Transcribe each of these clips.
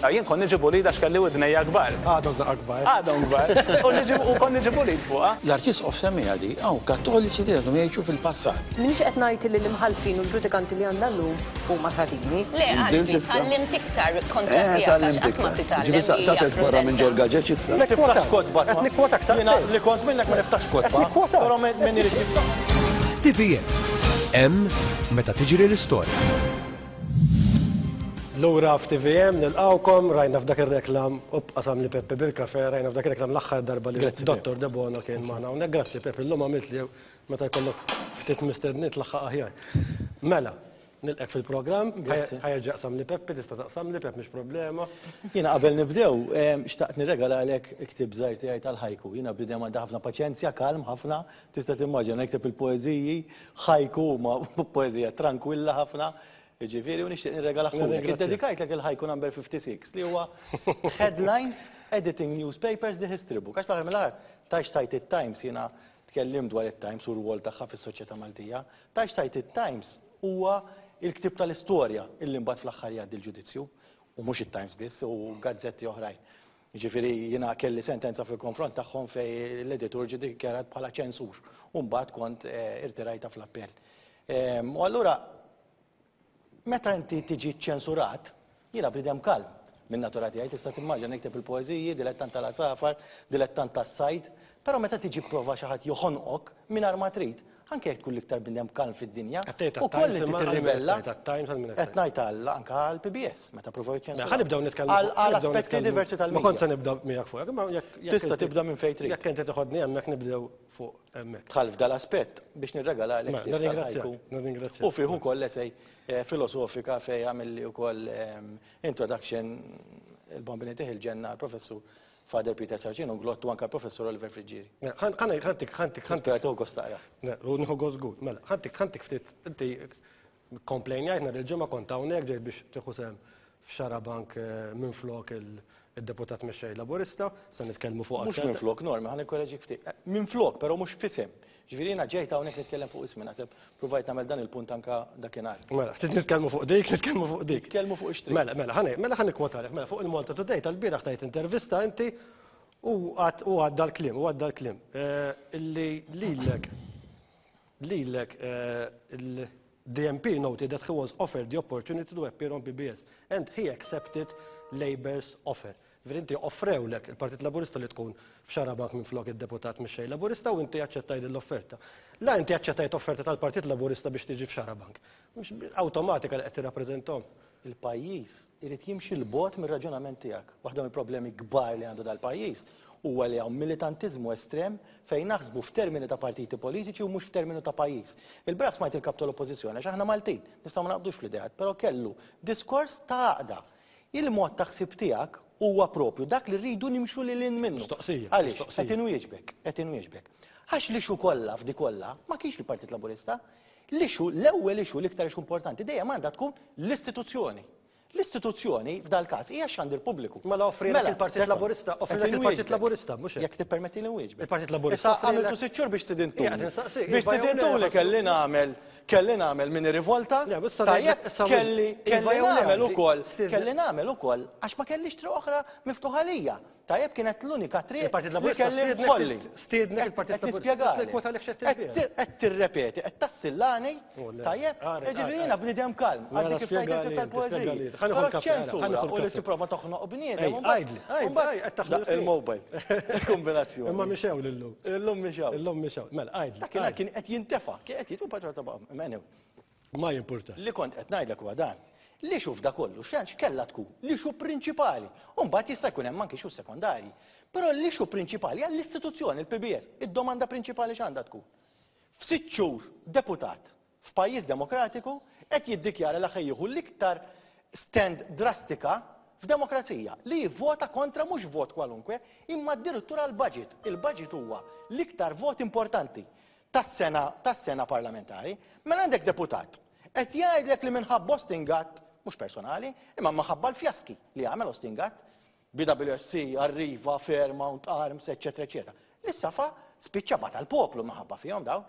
Jien kont niġi bullied għax kelli widnejja kbar. Għadhom daqqa kbar. Għadhom kbar. U niġi u kont niġi bullied fuqha. L-Arċisqof semmiha di, hawn Kattoliċi li għadhom jgħixu fil-passat. M'iniex qed ngħid li l-imħallfin u l-ġudikanti li għandna llum huma ħażini. Le qalbi, tgħallimt iktar kontra Eh, tiegħek għax tgħallimt qatt ma iktar. titgħallem Ġifieri hija taqtes barra minn prudenza. ġol-gaġeġ issa. Ma tiftaħx kotba. Qed nikkwotak Jiena saqsejt. li kont minnek ma niftaħx Qed kotba. nikkwotak. Però min irid jiftaħ. TVM. Hemm meta tiġri l-istorja. Lura f'TVM nilqgħukom, rajna f'dak ir-reklam u qasam li Peppi bil-kafe, rajna f'dak ir-reklam l-aħħar darba li Grazzi, Dottor Debono kien magħna hawnhekk. Grazzi Peppi, illum għamilt li meta jkollok ftit mistedniet tlaħħaq aħjar. Mela, nilqek fil-programm, Grazzi. ħa jerġa' jaqsam li Peppi, tista' taqsam li Pepp mhix problema. Jiena qabel nibdew, xtaqt nirregalalek ktieb żgħir tiegħi tal-ħajku. Jiena bniedem għandi ħafna paċenzja, kalm ħafna, tista' timmaġina nikteb il-poeżiji, ħajku huma poeżija trankwilla ħafna, jiġifieri u nixtieq nirregalaħulek. Nirringrazzjak. Iddedikajtlek il-ħajku number 56 li huwa Headlines Editing Newspapers the History Book. Għax fl-aħħar mill-aħħar tajx tajt it-Times jiena tkellimt dwar it-Times u r-rwol tagħha fis-soċjetà Maltija. Tajx tajt it-Times huwa il-ktieb tal-istorja illi mbagħad fl-aħħar jgħaddi l-ġudizzju. U mhux it-Times biss, u gazzetti oħrajn. Jiġifieri jiena kelli sentenza fil-konfront tagħhom fejn l-editur ġie dikjarat bħala ċensur u mbagħad kont irtirajtha fl-appell. U allura meta inti tiġi ċensurat, jiena bniedem kalm min-natura tiegħi, tista' timmaġina nikteb il-poeżiji, dilettant tal-għasafar, dilettant tas-sajd, però meta tiġi prova xi ħadd joħonqok mingħajr ma trid, anke jekk tkun l-iktar bniedem kalm fid-dinja, Qed tgħid ukoll għat-Times inti imma għal min qed tirribella. tgħid għat-Times għal min qed Qed tgħid? ngħid għal anke għall-PBS meta provaw Mela, jiċċensuraw. ħa nibdew nitkellmu Għal fuq- ħa nibdew aspetti nitkellmu- diversi Ma kont se tal-media. nibda miegħek fuq, imma jekk jekk Tista' inti- tibda minn fejn trid. Jekk inti toħodni hemmhekk nibdew fuq hemmhekk. Dħal f'dal-aspett biex nirregalalek Mela, ktieb nirringrazzjak, tal-ħajku. nirringrazzjak. U fih ukoll essay filosofika fejn għamilli wkoll introduction il-Bambini Tih il-Ġenna l-Professur Father Peter Sarcino Glottu anke l-Professur Oliver Friggieri. Mela, ħan- ħan- ħantik ħantik ħantik Nispera tieħu gost taqra. Ne, u nieħu gost żgur. Mela, ħantik ħantik ftit inti komplejnjajt nhar il-ġimgħa kont hawnhekk ġejt biex tieħu sehem f'Xarabank minflok il-deputat mexxej Laburista, se nitkellmu fuq Mhux aktar. minflok, Norma, ħa nikkoreġik ftit. Minflok, però mhux f'isem. Ġifieri jiena ġejt hawnhekk nitkellem fuq ismi, naħseb provajt nagħmel dan il-punt anke dakinhar. Mela, ftit nitkellmu fuq dik, nitkellmu fuq dik. Nitkellmu fuq ix-triq. Mela, mela, ħa mela ħa nikkwotalek, mela fuq il-Malta Today tal-bieraħ tajt intervista inti u għad u għadda l-kliem, u għadda l-kliem. Illi lilek lilek il-DMP noted that he was offered the opportunity to appear on PBS and he accepted Labour's offer. Ġifieri inti offrewlek il-Partit Laburista li tkun f'Xarabank minflok id-deputat mexxej Laburista u inti aċċettajt l-offerta. La inti aċċettajt offerta tal-Partit Laburista biex tiġi f'Xarabank. Mhux awtomatika li qed tirrappreżentahom. Il-pajjiż irid jimxi 'l bogħod mir-raġunament tiegħek. Waħda mill-problemi kbar li għandu dal-pajjiż huwa li hawn militantiżmu estrem fejn naħsbu f'termini ta' partiti politiċi u mhux f'termini ta' pajjiż. Il-bieraħ smajt il-kap tal-Oppożizzjoni għax aħna Maltin, nistgħu ma naqbdux fl-ideat, però kellu diskors ta' għaqda. Il-mod ta' ħsieb tiegħek huwa propju dak li rridu nimxu lil hinn minnu. Mistoqsija, Għaliex? mistoqsija. Qed inwieġbek, qed inwieġbek. Għax l-issue kollha f'di kollha ma kienx il-Partit Laburista. L-issue, l-ewwel issue l-iktar issue importanti dejjem għandha tkun l-istituzzjoni. L-istituzzjoni f'dal każ hija x-xandir pubbliku. Mela offrilek Mela, il-Partit sekond, Laburista, qed offrilek il-Partit inwieġbek. Laburista, mhux hekk. Jekk tippermetti li nwieġbek. Il-Partit Laburista Issa offrilek- għamiltu sitt xhur biex tidintuni. Ija, tinsaqsi, Biex iva jew le, tidintuni ħassu- kelli nagħmel kelli nagħmel mini rivolta. Le, issa Tajjeb, ngħidlek, issa kelli iva kelli jew le, nagħmel għandi- ukoll, stiednek. kelli nagħmel ukoll għax ma kellix triq oħra miftuħa lija. Tajjeb kienet l-unika triq Il-Partit li Laburista kelli stiednek nħolli. stiednek il-Partit Qed Laburista. nispjegalek. Qed nikkwota lek x'qed Qed tispjega. qed tirrepeti, qed tassillani, Oh, le. tajjeb, Għari, jiġifieri għari, jiena għari. bniedem kalm, Mela, għaddi kif tajt spjegali il-tip inti, tal-poeżiji. spjegali inti. Ħa nieħu Però l-kafè, ħa ċensura nieħu u li l-kafè. tipprova toħnoq bniedem. Ej, u mbagħad- għajdli, għajdli, u mbagħad- għaj, qed taħlu Da, l-ħin. Il-mobile, il-kombinazzjoni. Imma mixew lillum. Illum mixew. Illum mixew. Mela, għajdli. Dakinhar għajdli. kien qed jintefa', kien qed jitfa' ċerta baqa' anyway. Ma jimpurtax. Li kont qed ngħidlek huwa dan. Li xuf da kollu, x'kien x'kella tkun, l-issue prinċipali. U mbagħad jista' jkun hemm anke issue sekondarji. Però l-issue prinċipali għall-istituzzjoni, il-PBS, id-domanda prinċipali x'għandha tkun. F'sitt xhur deputat f'pajjiż demokratiku qed jiddikjara li ħa jieħu l-iktar stand drastika f'demokrazija li jivvota kontra mhux vot kwalunkwe, imma addirittura l-budget. Il-budget huwa l-iktar vot importanti tas-sena tas-sena parlamentari. Mela għandek deputat qed jgħidlek li minħabba Austin Gatt, mhux personali, imma minħabba l-fjaski li għamel Austin Gatt, BWSC, Arriva, Fairmount, Arms, eccetera, eccetera. Li safa spiċċa bata l-poplu minħabba fihom daw.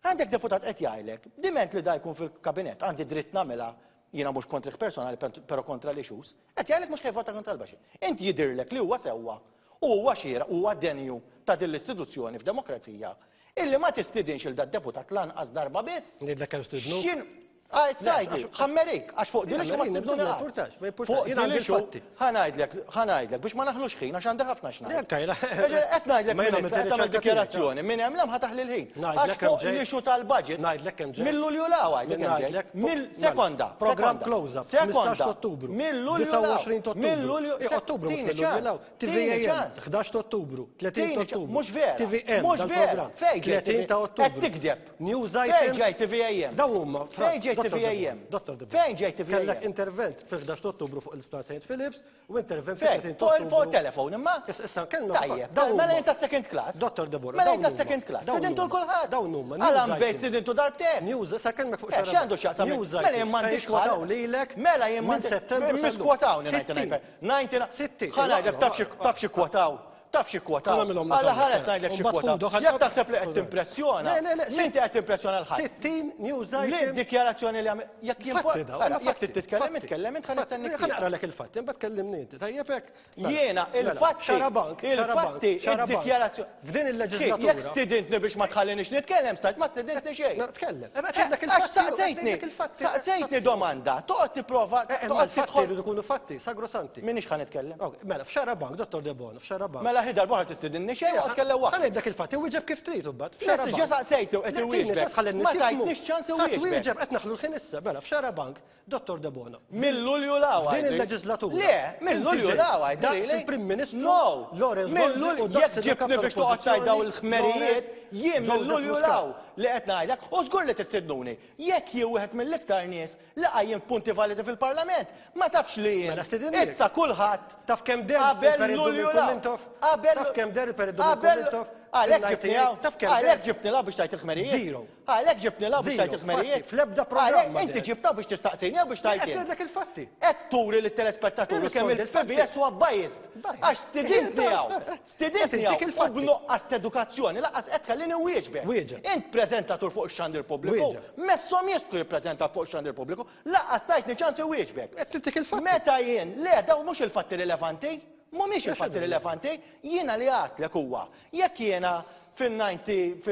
Għandek deputat qed jgħidlek, diment li da jkun fil-kabinett, għandi dritt nagħmilha. jiena mhux kontrih personali però kontra l-issues, qed jgħidlek mhux ħa jivvota kontra l-budget. Int jidhirlek li huwa sewwa u huwa xieraq u huwa denju ta' din l-istituzzjoni f'demokrazija illi ma tistidinx 'il dad-deputat lanqas darba biss? Ngħidlek kemm stidnu? X'in Għaj, ħammerik, għax fuq din issue ma stidnuni qatt. Ma jimpurtax, jien għandi l-fatti. Ħa ngħidlek, ħa ngħidlek biex ma naħlux ħin għax għandi ħafna x'ngħid. Qed ngħidlek minn issa qed tagħmel dikjarazzjoni minn hemm 'l hemm ħa taħli l-ħin. Għax fuq l-issue tal-budget. Ngħidlek kemm ġej. Mil-Lulju 'l hawn għidlek kemm ġej. Mill sekonda. Programm close up. Sekonda. Ottubru. Mil-Lulju 'l hawn. 29 ta' Ottubru. Mil-Lulju. Ottubru mhux mil-Lulju 'l hawn. TVAM, 11 ta' Ottubru, 30 ta' Ottubru. Mhux vera. TVM, Mhux vera. Fejn ġej 30 ta' Ottubru. Qed tigdeb. News Fejn items. ġej TVAM? Dawn huma. Fejn ġej TVAM? Dottor Debono. Fejn ġej TVAM? Kellek intervent fil-11 ta' Ottubru fuq l-Isptar St. Philips u intervent Fejn? fil-30 ta' Fuq Ottubru. fuq telefon imma? Issa kellna. Tajjeb. Dawn Mela huma. jien ta' second class. Dottor Debono. Mela jien dawn ta' second huma. class. Dawn Stidintu huma. l-kulħadd. Dawn huma. Għala News mbejt items. stidintu darbtejn. News, issa kellmek fuq Eh, xara. x'għandu x'jaqsam? News Mela jien items. m'għandix Fejn kwotaw ħal. lilek Mela jien minn m'għandix. Settembru sal-lum. Miskwotawni 60. 99. 60. Ħa ngħidlek taf xi taf xi kwotaw. Taf xi kwotaw. Ħa nagħmilhom Alla nagħmel. ħares ngħidlek xi U mbagħad kwotaw. fudu, ħa- Jekk taħseb li qed timpressjona, Le, le, le, inti qed timpressjona l-ħadd. 60 news Li item. dikjarazzjoni li għamil, jekk jien Fatti dawn, Ara, huma jekk fatti, titkellem, fatti. itkellem, int ħa nistennik. Ħa naqralek il-fatti, imbagħad kellimni inti. Tajjeb hekk? Mela, Jiena, mela, il-fatti, Xarabank, Xarabank, il-fatti, Xarabank. il-dikjarazzjoni. F'din il-leġislatura. Jekk stidintni biex ma tħallinix nitkellem, stajt ma stidintni xejn. Mela, tkellem. Eh, ma tgħidlek Għax il-fatti, saqsejtni, tgħidlek il-fatti. saqsejtni domanda, toqgħod tipprova, Eh, eh, ma toqgħod l-fatti tidħol. jridu jkunu fatti, sagrosanti. Minix ħa nitkellem. Ok, Mela, f'Xarabank, Dottor Debono, f'Xarabank. Mela ħi darba ħa tistidinni xejn, waqt tkellem Ħa waħdek. ngħidlek il-fatti, wieġeb kif trid imbagħad. Lesti ġa saqsejtu qed iwieġbek. Ma tajtnix ċans iwieġbek. Wieġeb qed naħlu l-ħin issa, mela f'Xarabank, Dottor Debono. Mill-Lulju 'l hawn F'din għidli. il-leġislatura. Le, mill-Lulju 'l hawn għidli. Daqs lili. il-Prim Ministru No, Lawrence mill-Lulju Gonzi u daqs jekk il-Kap ġibni biex toqgħod tgħid dawn il-ħmerijiet, jien Joseph mill-Lulju 'l Muscat. hawn li qed ngħidlek u żgur li tistidnuni. Jekk jien wieħed mill-iktar nies li qajjim punti validi fil-Parlament, ma tafx li jien. Mela stidinniek. Issa kulħadd Taf kemm deher qabel il-Perit Lulju Duminku 'l hawn. Mintoff? Qabel Taf kemm deher il-Perit Duminku qabel Mintoff? Għalhekk Fil-98? ġibni hawn. Taf kemm Għalhekk deher? ġibni 'l hawn biex tgħid il-ħmerijiet. Zero. Għalhekk ġibni 'l hawn biex Zero. tgħid il-ħmerijiet. Fatti, fl-ebda programm Għalhekk ma inti deher. ġibta biex tistaqsini jew biex tgħid Qed int? ngħidlek il-fatti. Qed turi lit-telespettaturi kemm Irrispondi il-PBS huwa biased. Biased. Għax stidintni hawn. Stidintni Qed intik hawn. U il-fatti. b'nuqqas t'edukazzjoni lanqas qed tħallini wieġbek. Wieġeb. Int preżentatur fuq ix-xandir pubbliku. Wieġeb. Messhom jistgħu jippreżentaw fuq ix-xandir pubbliku, lanqas tajtni ċans iwieġbek. Qed tintik il-fatti. Meta jien, le, dawn mhux il-fatti rilevanti, mhumiex il-fatti rilevanti, jiena li għadtlek huwa, jekk jiena fil-90,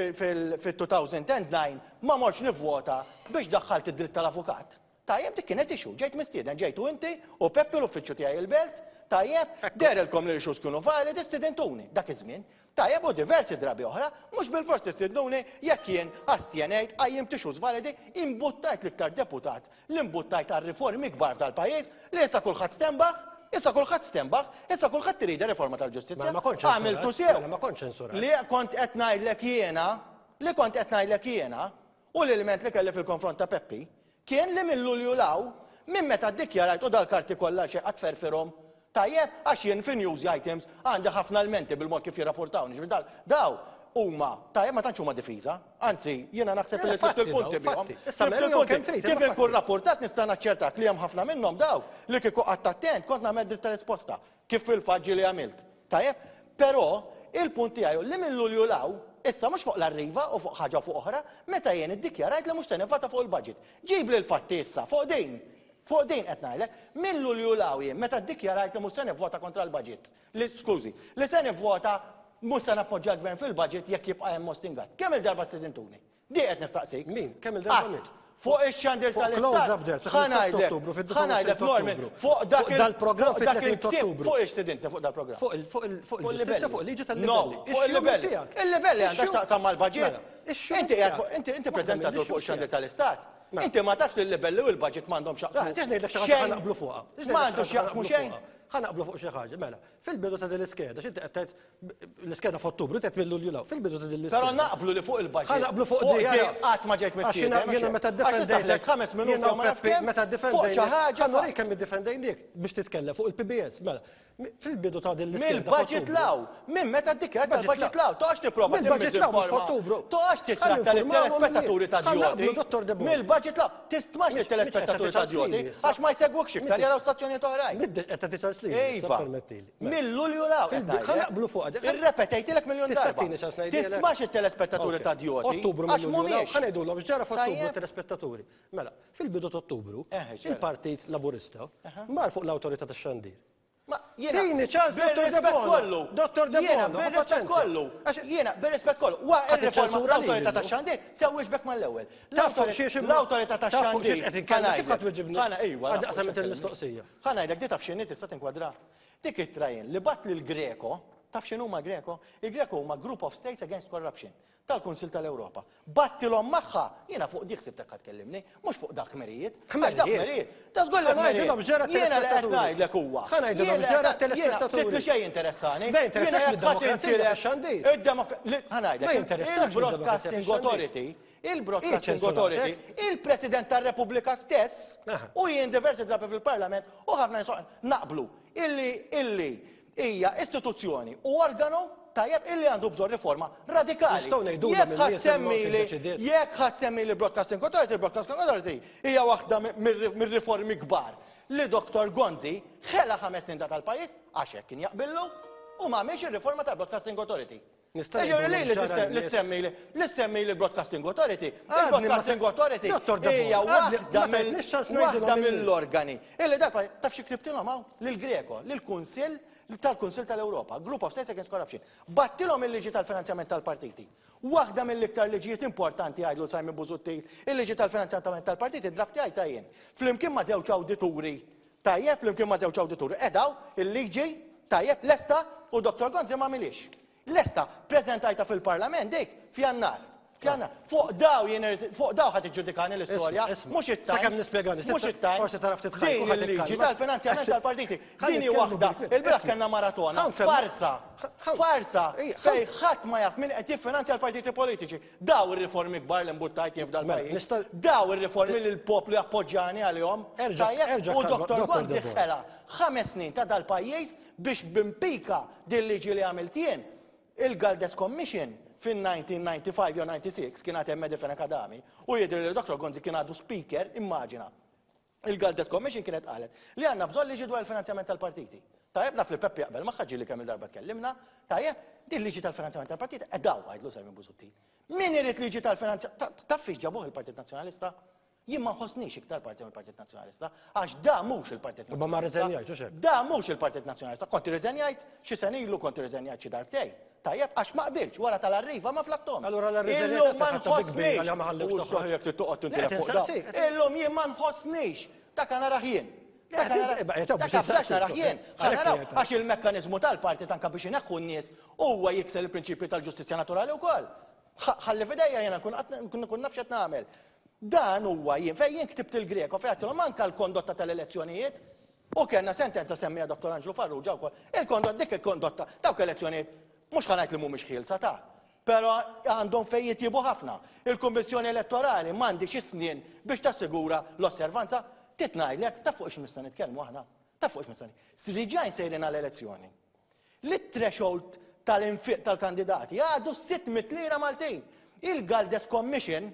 fil-2009 ma mortx nivvota biex daħħalt id-dritt tal-avukat. Tajjeb, dik kienet issue, ġejt mistieden, ġejtu inti u Peppi l-uffiċċju tiegħi il-belt, tajjeb, dehrilkom li l-issues kienu validi, stidintuni, dak iż-żmien. Tajjeb u diversi drabi oħra, mhux bilfors tistidnuni jekk jien astjenejt, qajjimt issues validi, imbuttajt l-iktar deputat, li imbuttajt għal riformi kbar tal-pajjiż, li issa kulħadd stenbaħ, issa kulħadd stenbaħ, issa kulħadd irid riforma tal-ġustizzja. Mela ma kontx ċensurat. Għamiltu sew. Mela ma kontx ċensurat. Li kont qed ngħidlek jiena, li kont qed ngħidlek jiena, u l-ilment li kelli fil-konfront ta' Peppi, kien li minn Lulju 'l hawn, minn meta ddikjarajt u dal-karti kollha xi qatt ferfirhom, tajjeb, għax jien fi news items għandi ħafna lmenti bil-mod kif jirrapportawni, ġifieri dal, daw huma, tajjeb ma tantx huma difiża, anzi jiena naħseb li tlift il-punti bihom. Issa Tlift mela jew il-punti. kemm trid, Kif imma inkun fatti. rapportat nista' naċċertak li hemm ħafna minnhom dawk li kieku qatt attent kont nagħmel dritta risposta, kif fil-fatt ġieli għamilt. Tajjeb, però il-punt tiegħi li minn Lulju 'l hawn, issa mhux fuq l-arriva u fuq ħaġa fuq oħra, meta jien iddikjarajt li mhux se nivvota fuq il-budget. Ġib li l-fatti issa fuq din. Fuq din qed ngħidlek, minn Lulju 'l hawn jien meta ddikjarajt li mhux se nivvota kontra l-budget. Li skużi, li se nivvota mhux se nappoġġja l-gvern fil-budget jekk jibqa' hemm Mostingat. Kemm il-darba stidintuni? Di qed nistaqsik. Min? Kemm il-darba min? Qatt. Fuq ix-xandir Fuq tal-Istat. close up there, Ħa ngħidlek, Ottubru, fid-29 ħa ngħidlek, Norman, Ottubru. fuq dak Fuq dal-programm fuq dak fit-30 il-ktieb, Ottubru. Fuq ix-stidintni fuq dal-programm. Fuq il- fuq il- fuq il-ġustizzja, fuq il-liġi tal-livelli. No, fuq il-livelli. Ix-xogħol Il-livelli għandha Ix-xogħol- x'taqsam mal-budget. Mela, ix-xogħol Inti qiegħed tiegħek. fuq- inti inti Waħda preżentatur mill-issues fuq ix-xandir tiegħek. tal-Istat. Mela. Inti ma tafx li l-livelli u l-budget m'għandhom x'jaqsmu. Tix ngħidlek xi ħaġa xejn. ħa naqblu fuqha. Tix ngħidlek Ma xi għandu ħaġa ħa x'jaqsmu naqblu xejn. fuqha. Ħa naqblu fuq xi ħaġa, mela. Fil-bidu ta' din l-iskeda, x'inti qed tgħid l-iskeda f'Ottubru, tgħid mill-Lulju 'l hawn. Fil-bidu ta' din l-iskeda. Però naqblu li fuq il-budget. Ħa naqblu fuq di, di qatt ma ġejt Għax mistieden. jiena jiena meta ddefendejtek ħames minuti jiena u ma naf Peppi, kemm, meta fuq xi ddefendejtek. ħaġa Ħa nurik kemm iddefendejniek biex titkellem fuq il-PBS, mela. Fil-bidu ta' din l-iskeda. Mill-budget f'Ottubru. 'l hawn, minn meta ddikjarat Budget tal-budget 'l hawn, toqgħodx tipprova Mill-budget 'l hawn, mhux timmiżinforma. f'Ottubru. Toqgħodx titratta Ħa ninformawhom lit-telespettaturi ta' Ħa naqblu, djoti. Dottor Debono. Mill-budget 'l hawn, tistmax Mhux- lit-telespettaturi mhux ta' qed djoti tagħti għax ma jsegwukx iktar Mhux- jaraw stazzjonijiet oħrajn. Middex qed tagħti ċans li. Iva. Mill-Lulju 'l hawn. Ħa naqblu fuqha. Irrepetejtilek miljun darba. Tista' tini ċans ngħidilek? Tistmax it-telespettaturi ta' djoti. Ottubru mill-Lulju 'l hawn. Ħa ngħidulhom x'ġara f'Ottubru telespettaturi. Mela, fil-bidu t'Ottubru, il-Partit Laburista mar fuq l-Awtorità tax-Xandir. Ma jiena. Tini ċans, Dottor Bir-rispett kollu. Dottor Debono. Jiena bir-rispett kollu. Jiena bir-rispett kollu. Wara ir-riforma tal-Awtorità tax-Xandir se wieġbek mal-ewwel. L-Awtorità tax-Xandir. Qed inkellem kif ħadd weġibni. Ħana iva. Għadni qasamet il-mistoqsija. Ħa ngħidlek di taf x'inhi tista' tinkwadra. Dik ittra jien li bgħatt lill-Greco, taf x'inhuma Greco? Il-Greco huma Group of States Against Corruption. tal-Kunsill tal-Ewropa. Battilhom magħha, jiena fuq dik ħsibtek ħa tkellimni, mhux fuq dak ħmerijiet. Għax dak ħmerijiet, ta' żgur li ħmerijiet. Jiena li qed ngħidlek huwa. Ħa ngħidilhom x'ġara t-telespettaturi. Ftit li xejn jinteressani. Ma jinteressakx mid-demokrazija tax-xandir. Ħa ngħidlek. Il-Broadcasting Authority, il-Broadcasting Authority, il-President tar-Repubblika stess, u jien diversi drabi fil-Parlament u ħafna nies naqblu illi illi hija istituzzjoni u organu tajjeb illi għandu bżonn riforma radikali. Nistgħu ngħidulhom Jekk ħa in-nies imma kif ssemmili deċidiet. jekk ħa ssemmili Broadcasting Authority, il-Broadcasting Authority hija waħda mir-riformi kbar li Dottor Gonzi ħela ħames snin ta' tal-pajjiż għax hekk kien jaqbillu u m'għamilx ir-riforma tal-Broadcasting Authority. Nista' Jiġifieri ngħidulhom li x'ġara li lin-nies. ssemmili li ssemmili Broadcasting Authority, Għadni ma il-Broadcasting Authority Dottor Debono, hija għadni waħda ma mill tajtniex ċans ngħidilhom waħda lin-nies. mill-organi illi darba taf xi ktibtilhom hawn lill-Greco, lill-Kunsill tal-Kunsill tal-Ewropa, Group of States Against Corruption. Battilhom il-liġi tal-finanzjament tal-partiti. Waħda mill-iktar liġijiet importanti għidlu Simon Busuttil, il-liġi tal-finanzjament tal-partiti ddraftjajtha jien. Flimkien ma' żewġ awdituri, tajjeb, flimkien ma' żewġ awdituri, qegħdaw il-liġi, tajjeb, lesta u Dottor Gonzi m'għamilhiex. Lesta, preżentajtha fil-Parlament dik f'Jannar. F'Jannar. Fuq daw jien irid, fuq daw ħa tiġġudikani l-istorja, mhux it-Times. Sakemm nispjegani, mhux it-Times. Forsi tara ftit ħajk Din il-liġi tal-finanzjament tal-partiti. Din hi waħda. Il-bieraħ kellna maratona. Farsa. Farsa. Fejn ħadd ma jaf min qed jiffinanzja l-partiti politiċi. Daw ir-riformi kbar li mbuttajt jien f'dal-pajjiż. Daw ir-riformi li l-poplu jappoġġjani għalihom. Tajjeb, u Dottor Gonzi ħela ħames snin ta' dal-pajjiż biex b'impika din liġi li għamilt jien, il-Galdes Commission fin-1995 jew 96 kien għad hemm Eddie Fenech Adami u jidhirli li Dottor Gonzi kien għadu Speaker, immaġina. Il-Galdes Commission kienet qalet li għandna bżonn liġi dwar il-finanzjament tal-partiti. Tajjeb, naf li Peppi jaqbel magħha ġieli kemm-il darba tkellimna, tajjeb, din liġi tal-finanzjament tal-partiti qed hawn għidlu Simon Busuttil. Min irid liġi tal-finanzjament, taf fiex ġabuh il-Partit Nazzjonalista? Jien ma nħossnix iktar parti mill-Partit Nazzjonalista, għax da mhux il-Partit Imma ma rriżenjajtx, hux hekk? Da mhux il-Partit Nazzjonalista. Kont irriżenjajt xi sena ilu, kont irriżenjajt xi darbtejn. Tajjeb, għax ma qbiltx, wara tal-Arriva ma flakthomx. Allura la rriżenjajt Illum ma ħadtha bi kbir nħossnix. għalija ma ħallewx U toħroġ. saħ jekk trid toqgħod Le, tintilef qed fuq dawn. insaqsik, qed Illum jien ma nħossnix. Dak narah jien. Le, Dak qed narah- in- eh, biex dak afdax insaqsik, narah jien. għalhekk Ħa naraw, qiegħed. għax il-mekkaniżmu tal-partit anke biex ineħħu n-nies huwa jikser il-prinċipji tal-ġustizzja naturali wkoll. Ħalli f'idejja jiena nkun qatt nkun naf x'qed nagħmel. Dan huwa jien, fejn jien ktibt il-Greco, fejn għedtilhom anke l-kondotta tal-elezzjonijiet, u kellna sentenza semmija Dottor Anġlu Farrugia wkoll, il-kondotta, dik il-kondotta, dawk elezzjonijiet, mhux ħa ngħid li mhumiex ħielsa ta', però għandhom fejn jitjiebu ħafna. Il-Kummissjoni Elettorali m'għandhiex is-snien biex tassigura l-osservanza. Trid ngħidlek, taf fuq x'missna nitkellmu aħna? Taf fuq x'missna nitkellmu? Riġajn sejrin għal elezzjoni. Li t-threshold tal-infiq tal-kandidati għadu 600 lira Maltin. Il-Galdes Commission,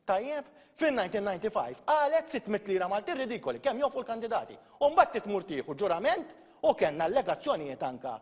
tajjeb, fin-1995 qalet 600 lira Maltin ridikoli, kemm jonfqu l-kandidati. U mbagħad trid tmur tieħu ġurament u kellna allegazzjonijiet anka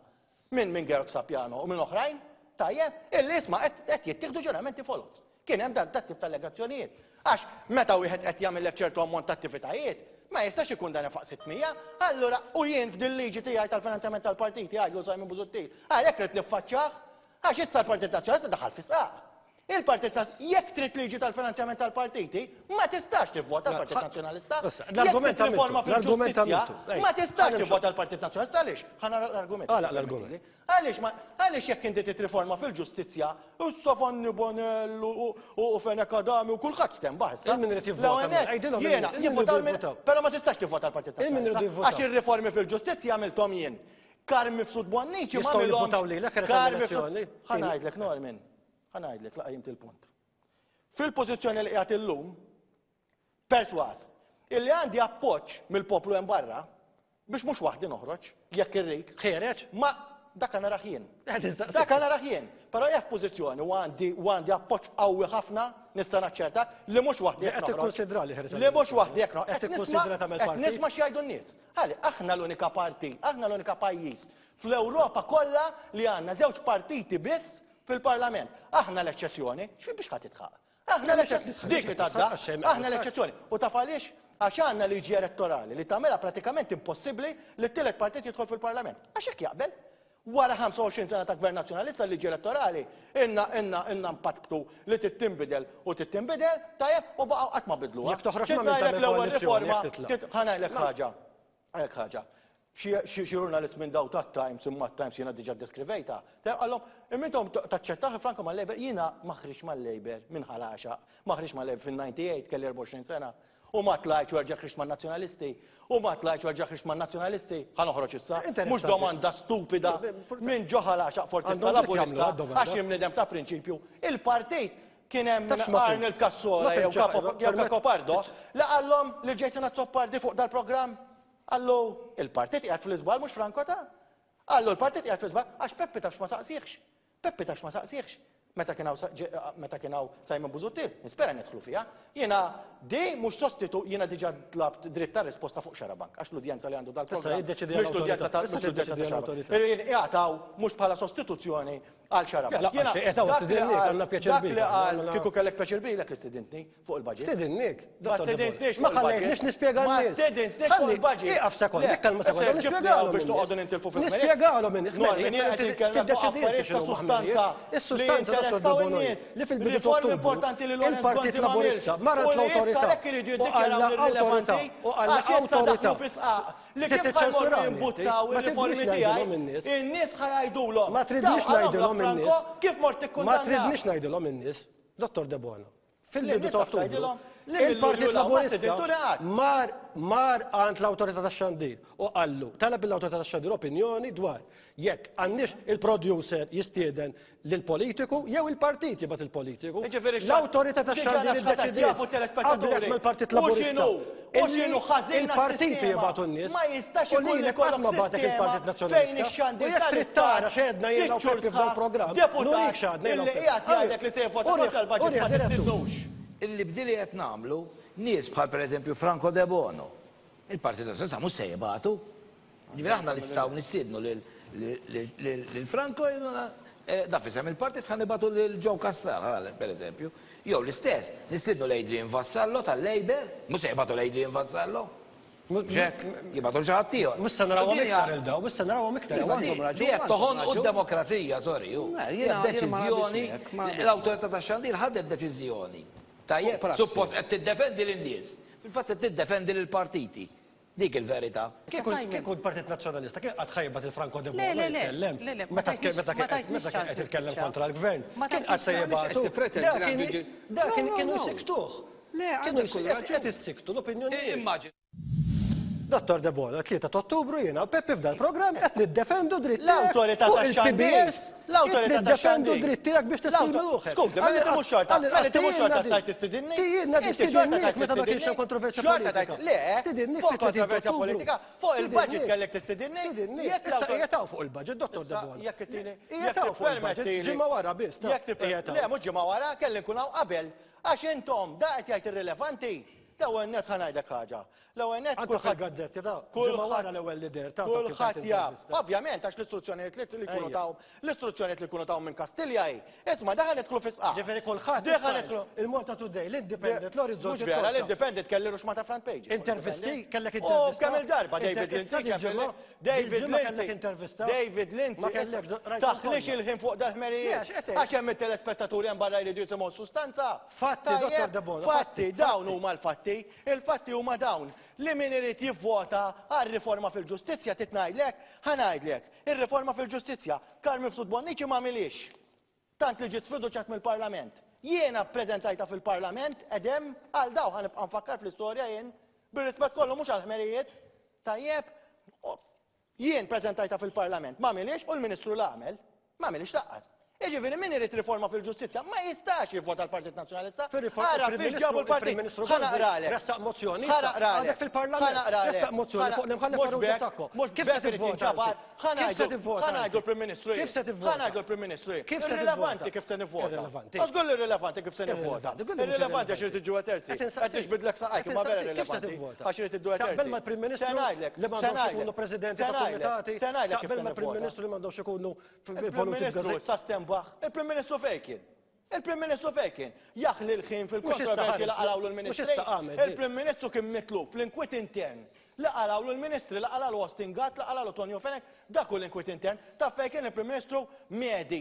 minn minn Georg Sapiano u minn oħrajn, tajjeb, illi isma' qed jittieħdu ġuramenti foloz. Kien hemm dan dat-tip ta' allegazzjonijiet. Għax meta wieħed qed jagħmillek ċertu ammont ta' attivitajiet, ma jistax ikun dan infaq 600, allura u jien f'dil-liġi tiegħi tal-finanzjament tal-partiti għidlu Simon Busuttil, għalhekk ridt niffaċċjah, għax issa l-Partit Nazzjonalista daħal fi sqaq. Il-Partit Nazzjonalista, jekk trid liġi tal-finanzjament tal-partiti, ma tistax tivvota l-Partit Nazzjonalista. L-argument Jekk trid riforma għamiltu, l-argument fil-ġustizzja, għamiltu. ma tistax tivvota l-Partit Nazzjonalista għaliex? Ħa nara l-argument. Għalaq l-argument. Għaliex ma, għaliex jekk inti trid riforma fil-ġustizzja, issa Fanny Bonello u, u, u Fenech Adami u kulħadd stenbaħ issa. Il min irid jivvota L-ewwel nett, għidilhom jiena, in-nies, il min jivvotaw iridu min, jivvotaw. però ma tistax tivvota l-Partit Il min iridu Nazzjonalista. jivvotaw. Għax ir-riformi fil-ġustizzja għamilthom jien. Carm Mifsud Bonnici ma Jistgħu għamilhomx. jivvotaw lilek qed Carm Mifsud. elezzjoni. Ħa ngħidlek Norman, ħa ngħidlek la qajjimt il-punt. Fil-pożizzjoni li qiegħed illum, persważ illi għandi appoġġ mill-poplu hemm barra biex mhux waħdi noħroġ, jekk irrid. Ħiereġ? Ma. Dak narah jien. Dak narah jien. Però jekk pożizzjoni u għandi u għandi appoġġ qawwi ħafna nista' naċċertak li mhux waħdi Qed tikkonsidra li ħeres. Li mhux waħdi jekk Qed tikkonsidra tagħmel partit. Nisma' x'jgħidu n-nies. Ħalli aħna l-unika partit, aħna l-unika pajjiż fl-Ewropa kollha li għandna żewġ partiti biss fil-Parlament. Aħna l-eċċezzjoni, x'fi biex ħadd tidħaq. Aħna l-eċċezzjoni, dik li tadda, aħna l-eċċezzjoni. U taf għaliex? Għax għandna liġi elettorali li tagħmilha pratikament impossibbli li t-tielet partit jidħol fil-Parlament. Għax hekk jaqbel. Wara 25 sena ta' gvern nazzjonalista l-liġi elettorali inna inna inna mpatbtu li trid tinbidel u trid tinbidel, tajjeb, u baqgħu qatt ma bidluha. Jekk toħroġ ma' min tagħmel l-ewwel koalizzjoni, riforma, jekk titla'. ħa ngħidlek ħaġa, ngħidlek ħaġa. Xi ġurnalist minn daw tat-Times, imma t-Times jiena diġà ddeskrivejtha, qalhom, imma intom taċċettawh Franco mal-Labour? Jiena ma ħriġtx mal-Labour minn Ħal Għaxaq, ma ħriġtx mal-Labour fin-98, kelli 24 sena, u ma tlajtx u erġa' ħriġt man-Nazzjonalisti, u ma tlajtx u erġa' ħriġt man-Nazzjonalisti, ħa noħroġ issa. Mhux domanda stupida minn ġo Ħal Għaxaq Fortizza Laburista għax jien bniedem ta' prinċipju. Il-partit kien hemm Arnold Cassola jew Cacopardo li qallhom lil Jason Azzopardi fuq dal-programm. Qallu, il-partit qiegħed fl-iżball mhux Franco ta'. Qallu l-partit qiegħed fl-iżball għax Peppi tafx ma saqsihx. Peppi tafx ma saqsihx. Meta kien hawn meta kien hawn Simon Busuttil, nispera nidħlu fiha. Jiena di mhux sostitu jiena diġà tlabt dritt ta' risposta fuq Xarabank għax l-udjenza li għandu dal-programm mhix l-udjenza ta' mhux l-udjenza ta' Xarabank. Jien qiegħed hawn mhux bħala sostituzzjoni għal Xarabank. Jiena dak li qal kieku kellek pjaċir bilek li stidintni. fuq il-budget. Stedinnik. Ma stedintniex Ma ħallejtniex nispjega Ma stedintniex fuq il-budget. Ieqaf sekond, dik kelma sekonda. Nispjegalhom biex toqgħodu nintilfu fil Nispjegalhom in Normin, jien qed inkellem fuq affarijiet ta' sustanza. Is-sustanza Dottor Debono li fil-bidu ta' Riformi importanti li Lawrence il-Partit Gonzi ma Laburista għamilx. marret U li issa l-awtorità għalhekk iridu u jiddikjaraw qalla awtorità irrilevanti u qalla għax issa awtorità. daħlu fi sqaq li kif ħa jmorru jimbuttaw Ma tridniex ir-riformi ngħidilhom tiegħi, in-nies. in-nies ħa jgħidulhom. Ma tridniex Daw qalhom ngħidilhom in-nies. Franco kif mort Ma tikkundanna. tridniex ngħidilhom in-nies, Dottor Debono. Fil-bidu ta' Ottubru, il-Partit il-Partit Laburista mar mar għand l-Awtorità tax-Xandir u qallu, talab lill-Awtorità tax-Xandir opinjoni dwar jekk għandniex il-producer jistieden lill-politiku jew il-partit jibgħat il-politiku. L-Awtorità tax-Xandir iddeċidiet qablet mal-Partit Laburista illi il-partiti jibgħatu n-nies. Ma jistax U ikun lilek qatt ma bagħtek il-Partit Nazzjonalista. U jekk trid tara x'għedna jiena u Peppi f'dal-programm, nurik x'għadna jiena u Illi qiegħed jgħidlek li se jivvota kontra l-budget ma tistidnux. Illi b'dili qed nagħmlu, nies bħal pereżempju Franco Debono, il-Partit Nazzjonalista mhux se jibgħatu. Ġifieri aħna nistgħu nistiednu lil Franco da f'isem il-partit ħa nibgħatu lil Joe Cassar, pereżempju. Jew l-istess, nistiednu lil Adrian Vassallo tal-Labour, mhux se jibgħatu lil Adrian Vassallo. Mhux hekk, jibgħatu lil xi ħadd ieħor. Mhux se narawhom iktar il daw, mhux se narawhom iktar. Li qed toħonqu d-demokrazija, sorry. Hija deċiżjoni, l-Awtorità tax-Xandir ħadet deċiżjoni. Tajjeb, suppost qed tiddefendi lin-nies. Fil-fatt qed tiddefendi lill-partiti. Dik il-verità. Kieku kieku l-Partit Nazzjonalista kien qatt ħa jibgħat lil Franco Debono jitkellem meta kien meta kien meta kien qed jitkellem kontra l-gvern. Kien qatt se jibgħatu. Da kien kienu jsikktuh. Kienu qed issiktu l-opinjonijiet. Dottor Debono, 3 ta' Ottubru jiena u Peppi f'dal-programm qed niddefendu dritt L-awtorità fuq tax-xandir. il-PBS L-awtorità niddefendu tax-xandir. dritt tiegħek biex tesprimi ruħek. Skużi, mela inti mhux xorta, mela inti mhux xorta stajt tistidinni? Tijinna Inti xorta tistidinnik tajt meta ma kienx hemm tistidinni? kontroversja Xorta tajt, politika. le, Stidinnik fuq fit-30 kontroversja Ottubru. politika, fuq il-budget Stidinnik. kellek tistidinni. Stidinnik. Jekk Issa l-awtor- qiegħed hawn fuq il-budget, Dottor Issa, Debono. jekk ittini, Qiegħed jekk hawn fuq il-budget, tippermettili- ġimgħa wara biss. ta' Jekk tipper- qiegħed hawn. Le, mhux ġimgħa wara, kelli nkun hawn qabel. Għax intom, da qed jgħid irrilevanti. L-ewwel nett ħa ngħidlek ħaġa. L-ewwel nett Anke kulħadd fil-gazzetti ta' kulħadd- ġimgħa wara l-ewwel li deher ta' Kulħadd jaf. Ovvjament għax l-istruzzjonijiet li li jkunu Ejja. taw, l-istruzzjonijiet li jkunu taw minn Kastilja hi. Isma' daħal nidħlu fi sqaq. Ġifieri kulħadd Daħal issa nidħlu. Il-Malta Today, l-Independent, l-Orizzont. Mhux vera, l-Independent kelli ruxma ta' front page. Intervisti, kellek U intervista. kemm il-darba David Intervista Lindsay dil-ġimgħa, ċempilli. David dil-ġimgħa kellek Lindsay. intervista. David Lindsay. Ma kellekx, rajthom Taħlix kollha. il-ħin fuq dal-ħmerijiet. Le, għax qed Għax hemm it-telespettaturi hemm barra jridu jisimgħu s-sustanza. Fatti, Tajjeb, Dottor Debono, Fatti, fatti, dawn fatti. huma l-fatti. Il-fatti huma dawn li min irid jivvota għal riforma fil-ġustizzja trid ngħidlek, ħa ngħidlek, ir-riforma fil-ġustizzja Carm Mifsud Bonnici ma għamilhiex. Tant li ġiet sfiduċjat mill-Parlament. Jiena ppreżentajtha fil-Parlament edem għal daw ħa nibqa' nfakkar fl-istorja jien, bir-rispett kollu mhux għall-ħmerijiet. Tajjeb, jien preżentajtha fil-Parlament, ma għamilhiex u l-Ministru la għamel. Ma għamilhiex lanqas. Jiġifieri min irid riforma fil-ġustizzja ma jistax jivvota l-Partit Nazzjonalista. Ara fiex ġabu l-partit. Ħa naqralek. Ressaq mozzjoni. Ħa naqralek. Għadek fil-Parlament. Ressaq mozzjoni fuq l-imħallef Farrugia Sacco. Mhux Kif se tivvota? Ħa ngħidu l-Prim Ministru. Kif se tivvota? Ħa ngħidu l-Prim Ministru. Kif se Irrilevanti kif se nivvota. Irrilevanti. Għax żgur irrilevanti kif se nivvota. Irrilevanti għax irid iġġuha terzi. Qed tiġbidlek saqajk imma vera irrilevanti. Għax irid idduha terzi. Taqbel mal-Prim Ministru li m'għandhomx ikunu presidenti ta' kumitati. Taqbel mal-Prim Ministru li m'għandhomx ikunu Il-Prim Ministru issa stenbaħ. Il-Prim Ministru fejn kien? Il-Prim Ministru fejn kien? Jaħli l-ħin fil-kontroversji li qalgħulu l-Ministri. Il-Prim Ministru kien mitlub fl-inkwiet intern li qalgħulu l-Ministri, li qalgħulu Austin Gatt, li qalgħulu Tonio Fenech, dak hu l-inkwiet intern. Taf fejn kien il-Prim Ministru? Mehdi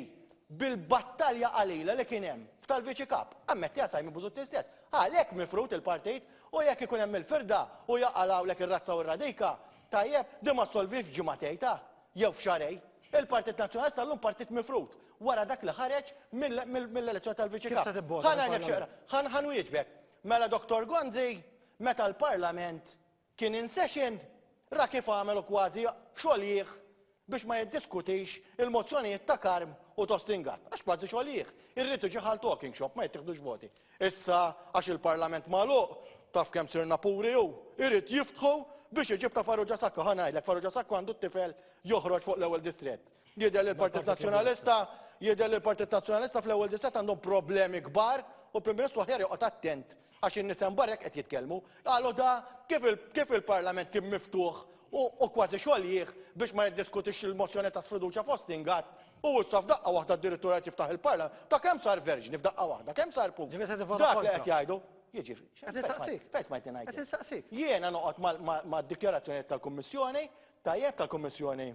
bil-battalja qalila li kien hemm f'tal-Viċi Kap. Ammettiha Simon Busuttil stess. Għalhekk mifrud il-partit u jekk ikun hemm il-firda u jaqalgħulek ir-razza u r-radika, tajjeb, din ma ssolvix f'ġimagħtejn ta'. jew f'xahrejn. Il-Partit Nazzjonalista llum partit mifrud wara dak li ħareġ mill-elezzjoni tal-Viċi Kap. Ħa ngħidlek xi ħa nwieġbek. Mela Dottor Gonzi meta l-Parlament kien in session ra kif għamel u kważi xoljih biex ma jiddiskutix il-mozzjonijiet ta' Karm u Tostin Gatt. Għax kważi xoljih. Irrid iġi ħal talking shop ma jittieħdux voti. Issa għax il-Parlament magħluq, taf kemm sirna puri hu, irid jiftħu biex iġib ta' Farrugia Sacco. Ħa ngħidlek, Farrugia Sacco għandu t-tifel joħroġ fuq l-ewwel distrett. Jidher li l-Partit Nazzjonalista, jidher li l-Partit Nazzjonalista fl-ewwel distrett għandhom problemi kbar u l-Prim Ministru aħjar joqgħod attent għax in-nies hemm barra hekk qed jitkellmu. Qalu da kif il-Parlament kien miftuħ u kważi xoljih biex ma jiddiskutix il-mozzjoni ta' sfiduċja fost Ingatt u issa f'daqqa waħda addirittura qed jiftaħ il-Parlament. Ta' kemm sar verġni f'daqqa waħda, kemm sar pur. Ġifieri se tivvota Dak li kontra. qed jgħidu. Jiġifieri, Qed insaqsik. Fejn smajtni ngħid Qed jien? insaqsik. Jiena noqgħod mad-dikjarazzjonijiet tal-Kummissjoni, tajjeb tal-Kummissjoni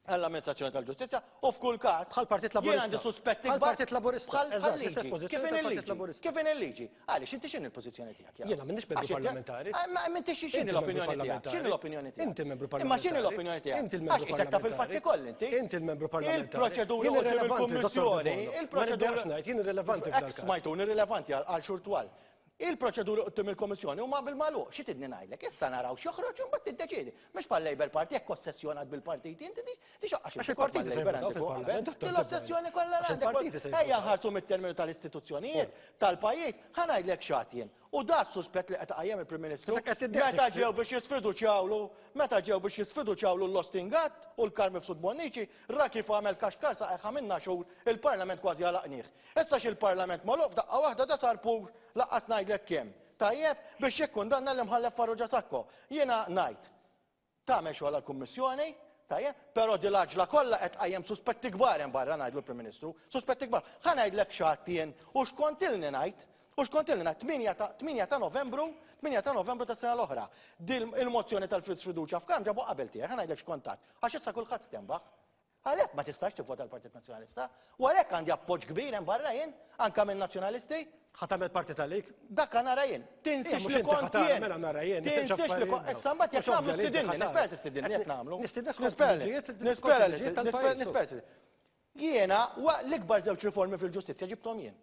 għall-Amministrazzjoni tal-Ġustizzja u f'kull każ Bħall-Partit jien Laburista. għandi suspetti kbar Bħall-Partit Laburista, bħal eżatt, bħal l-istess liġi. pożizzjoni Kif inhi tal-Partit l-liġi? Laburista. Kif inhi l-liġi? Għaliex inti x'inhi l-pożizzjoni tiegħek? Jakob? Jiena m'iniex membru Għax inti- parlamentari. Ah, Ma inti x'inhi Inti membru l-opinjoni tiegħek? parlamentari. X'inhi l-opinjoni tiegħek? Inti membru Imma x'inhi parlamentari. l-opinjoni tiegħek? Inti l-membru Għax isek taf il-fatti parlamentari. kollha inti. Inti l-membru parlamentari. Il-proċedura Jien quddiem irrelevanti, Dottor il-Kummissjoni, Debono. Ma il-proċedura. nibdejx ngħid, jien irrelevanti f'dal Ex każ. smajtuni irrilevanti għal xhur twal. Il-proċeduri quddiem il-Kummissjoni huma bil-magħluq. Xi tidni ngħidlek? Issa naraw x'joħroġ u mbagħad tiddeċiedi. Mhux bħal-Labour Party jekk ossessjonat bil-partiti inti tixoqqa Għax il-partiti se Labour jivvutaw għandek fuq fil-Parlament, qabel. Dottor Din l-ossessjoni kollha Għax għandek. il-partiti se Ejja jivvutaw. nħarsu mit-terminu tal-istituzzjonijiet tal-pajjiż, ħa ngħidlek x'għad jien. U da s-suspett li qed iqajjem il-Prim Ministru Issa qed tiddeħ meta dik- ġew biex jisfiduċjawlu, meta ġew biex jisfiduċjawlu l-Austin Gatt u l-Karmi Mifsud Bonnici, ra kif għamel kaxkar saqajh għamilna xhur il-Parlament kważi għalaqnieh. Issa x'il-Parlament magħluq f'daqqa waħda da sar pur Laqqas ngħidlek kemm. Tajjeb biex jikkundanna l-Imħallef Farrugia Sacco. Jiena ngħid, tagħmel xogħolha l-Kummissjoni, tajjeb, però din l-għaġla kollha qed tqajjem suspetti kbar hemm barra ngħidlu l-Prim Ministru, suspetti kbar. Ħa ngħidlek x'għedt jien u x'kont ilni ngħid, u x'kont ilni ngħid 8 ta' 8 ta' Novembru, 8 ta' Novembru tas-sena l-oħra. Din il-mozzjoni tal-sfiduċja f'Karm ġabu qabel tiegħi, ħa ngħidlek x'kont għedt. Għax issa kulħadd stenbaħ. Għalhekk ma tistax tivvota l-Partit Nazzjonalista. U għalhekk għandi appoġġ kbir hemm barra jien, anke minn Nazzjonalisti. Ħa tagħmel parti talik? Dak nara jien. Tinsiex li kont jien. Mela nara jien. Tinsiex li kont. Issa mbagħad jekk nagħmlu stidinni, nispera tistidinni jekk nagħmlu. Nispera nispera nispera. Jiena l-ikbar żewġ riformi fil-ġustizzja ġibthom jien.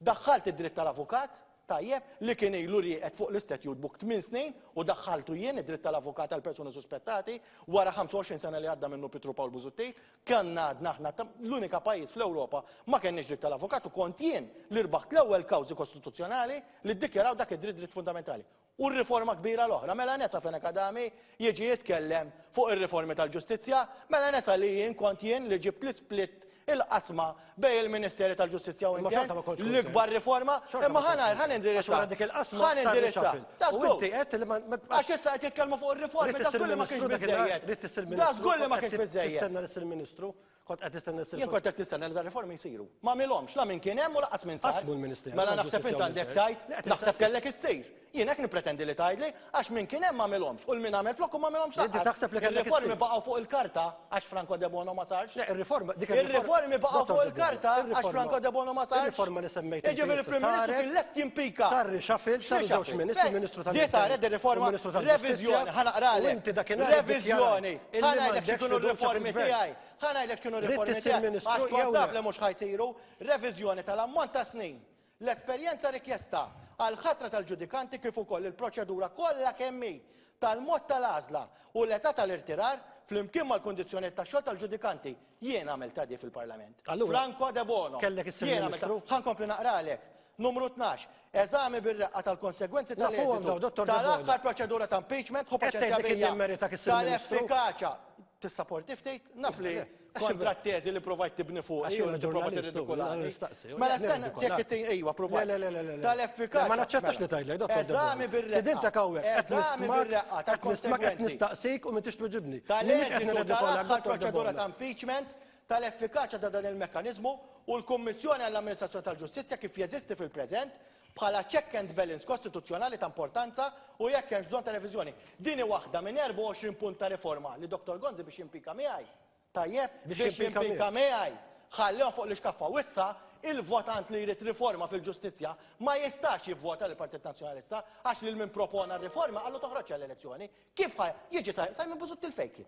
Daħħalt id-dritt tal-avukat, tajjeb, li kien ilu rieqed fuq l-istatute book tminn snin u daħħaltu jien id-dritt tal-avukat għal persuni suspettati wara 25 sena li għadda minnu Pietru Pawl Busuttil. Konna għadna aħna l-unika pajjiż fl-Ewropa ma kenniex dritt tal-avukat u kont jien li rbaħt l-ewwel kawżi kostituzzjonali li ddikjaraw dak id-dritt dritt fundamentali. U r-riforma kbira l-oħra, mela nesa Fenech Adami jiġi jitkellem fuq ir-riformi tal-ġustizzja, mela nesa li jien kont jien li ġibt l-isplit, il-qasma bejn il-Ministeri tal-Ġustizzja u Imma xorta ma kontx Intern, l-ikbar riforma, Xorta imma ma ħa kontx ħa nindirizza. Għax wara dik il-qasma Ħa sar nindirizza. reshuffle. Da U żgur. inti għedt li ma- ma- Għax issa qed jitkellmu fuq ir-riformi, Ridt da issir żgur li ma kienx ministru dakinhar, biżżejjed. ridt issir Da ministru, żgur li ma kont kienx qed biżżejjed. Tistenna li ssir ministru. Kont qed tistenna ssir Jien kont qed nistenna li dar-riformi jsiru. Ma għamilhomx, la min kien hemm u lanqas min sar. Qasmu l-Ministeru Mela naħseb tal-Ġustizzja int u għandek l-Intern. tgħid, Le, qed naħseb nistaqsik. kellek issir. Jien hekk nippretendi li tgħidli, għax min kien hemm ma għamilhomx u l-min għamel flokku ma għamilhomx Inti lanqas. taħseb li kellek Ir-riformi issir. baqgħu fuq il-karta għax Franco Debono ma sarx. Le, ir-riforma, dik Ir-riformi baqgħu Dottor fuq Debono, il-karta għax ir-riforma- Franco Debono ma sarx. Ir-riforma li semmejt inti Jiġifieri issa il-Prim Ministru saret, kien lest jimpika. Sar reshuffle, saru żewġ X'reshuffle? ministri, Fejn? Ministru Di tal-Intern saret ir-riforma, u Ministru tal-Ġustizzja. reviżjoni, ħa naqralek. U inti dakinhar Reviżjoni, iddikjarajt illi ħa ngħidlek m'għandekx x'kienu fiduċja r-riformi fil-gvern. tiegħi. Ħa ngħidlek x'kienu Ridt r-riformi issir tiegħi. ministru Għax jew kont taf le? li mhux ħa jsiru. Reviżjoni tal-ammont ta' snin, l-esperjenza rikjesta għall-ħatra tal-ġudikanti kif ukoll il-proċedura kollha kemm hi tal-mod tal-għażla u l-età tal-irtirar flimkien mal-kundizzjonijiet tax-xogħol tal-ġudikanti. Jien għamiltha di fil-Parlament. Allura, Franco Debono. kellek issir Jien għamiltha. Ministru? Ħa nkompli naqralek. Numru 12. Eżami bir-reqqa tal-konsegwenzi Nafuhom tal-eżitu daw, Dottor Debono. tal-aħħar proċedura ta' impeachment, ħu Qed paċenzja tgħid li kien bija. jimmerita issir Ministru? Tal-effikaċja. Tissaporti ftit? Naf li Le, għax kontra t-teżi li provajt tibni fuq. Għax jiena u tipprova ġurnalist, u tirridikolani. jiena nistaqsi, u Mela le, stenna, nirridikolak. jekk it- ejwa, provajt. Le, le, le, le, le. Tal-effikaċja. Le, ma naċċettax Mela. li tgħidlek, Dottor Debono. Eżami bir-reqqa. Stedintek hawnhekk, qed Eżami nistmak, bir-reqqa qed nistmak, qed tal-konsegwenzi. nistaqsik u m'intix tweġibni. M'iniex qed Tal-eżitu nirridikolak, tal-aħħar Dottor proċedura Debono. ta' impeachment, tal-effikaċja ta' dan il-mekkaniżmu u l-Kummissjoni għall-Amministrazzjoni tal-Ġustizzja kif jeżisti fil-preżent bħala check and balance kostituzzjonali ta' importanza u jekk hemmx bżonn ta' reviżjoni. Din hi waħda minn 24 punt ta' riforma li Dottor Gonzi biex jimpika miegħi. Tajjeb, Biex biex jimpika jimpika miegħek. miegħi. Ħallihom fuq l-ixkaffa u issa il-votant li jrid riforma fil-ġustizzja ma jistax jivvota lill-Partit Nazzjonalista għax lil min propona r-riforma qallu toħroġx għall-elezzjoni. Kif ħa jiġi Simon Busuttil fejn kien?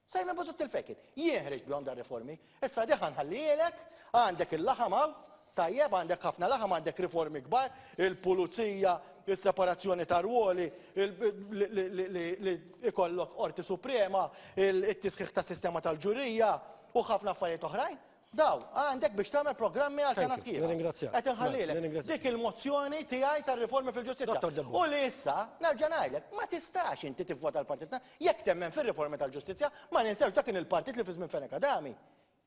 Simon Busuttil fejn kien? Jien ħriġt bihom dar-riformi. Issa di ħa nħallielek, għandek il-laħam hawn, tajjeb, għandek ħafna laħam, għandek riformi kbar, il-pulizija, il-separazzjoni ta' ruoli, li ikollok Qorti Suprema, il-tisħiħ ta' sistema tal-ġurija u ħafna affarijiet oħrajn. Daw, għandek biex tagħmel programmi għal sena Thank you. sħiħa. Nirringrazzjak. Qed inħallilek. Mela, nirringrazzjak. Dik il-mozzjoni tiegħi tar-riformi fil-ġustizzja. Dottor Debono. U li issa, nerġa' ngħidlek, ma tistax inti tivvota l-partit jekk temmen fir-riformi tal-ġustizzja, ma ninsewx dak kien il-partit li fi żmien Fenech Adami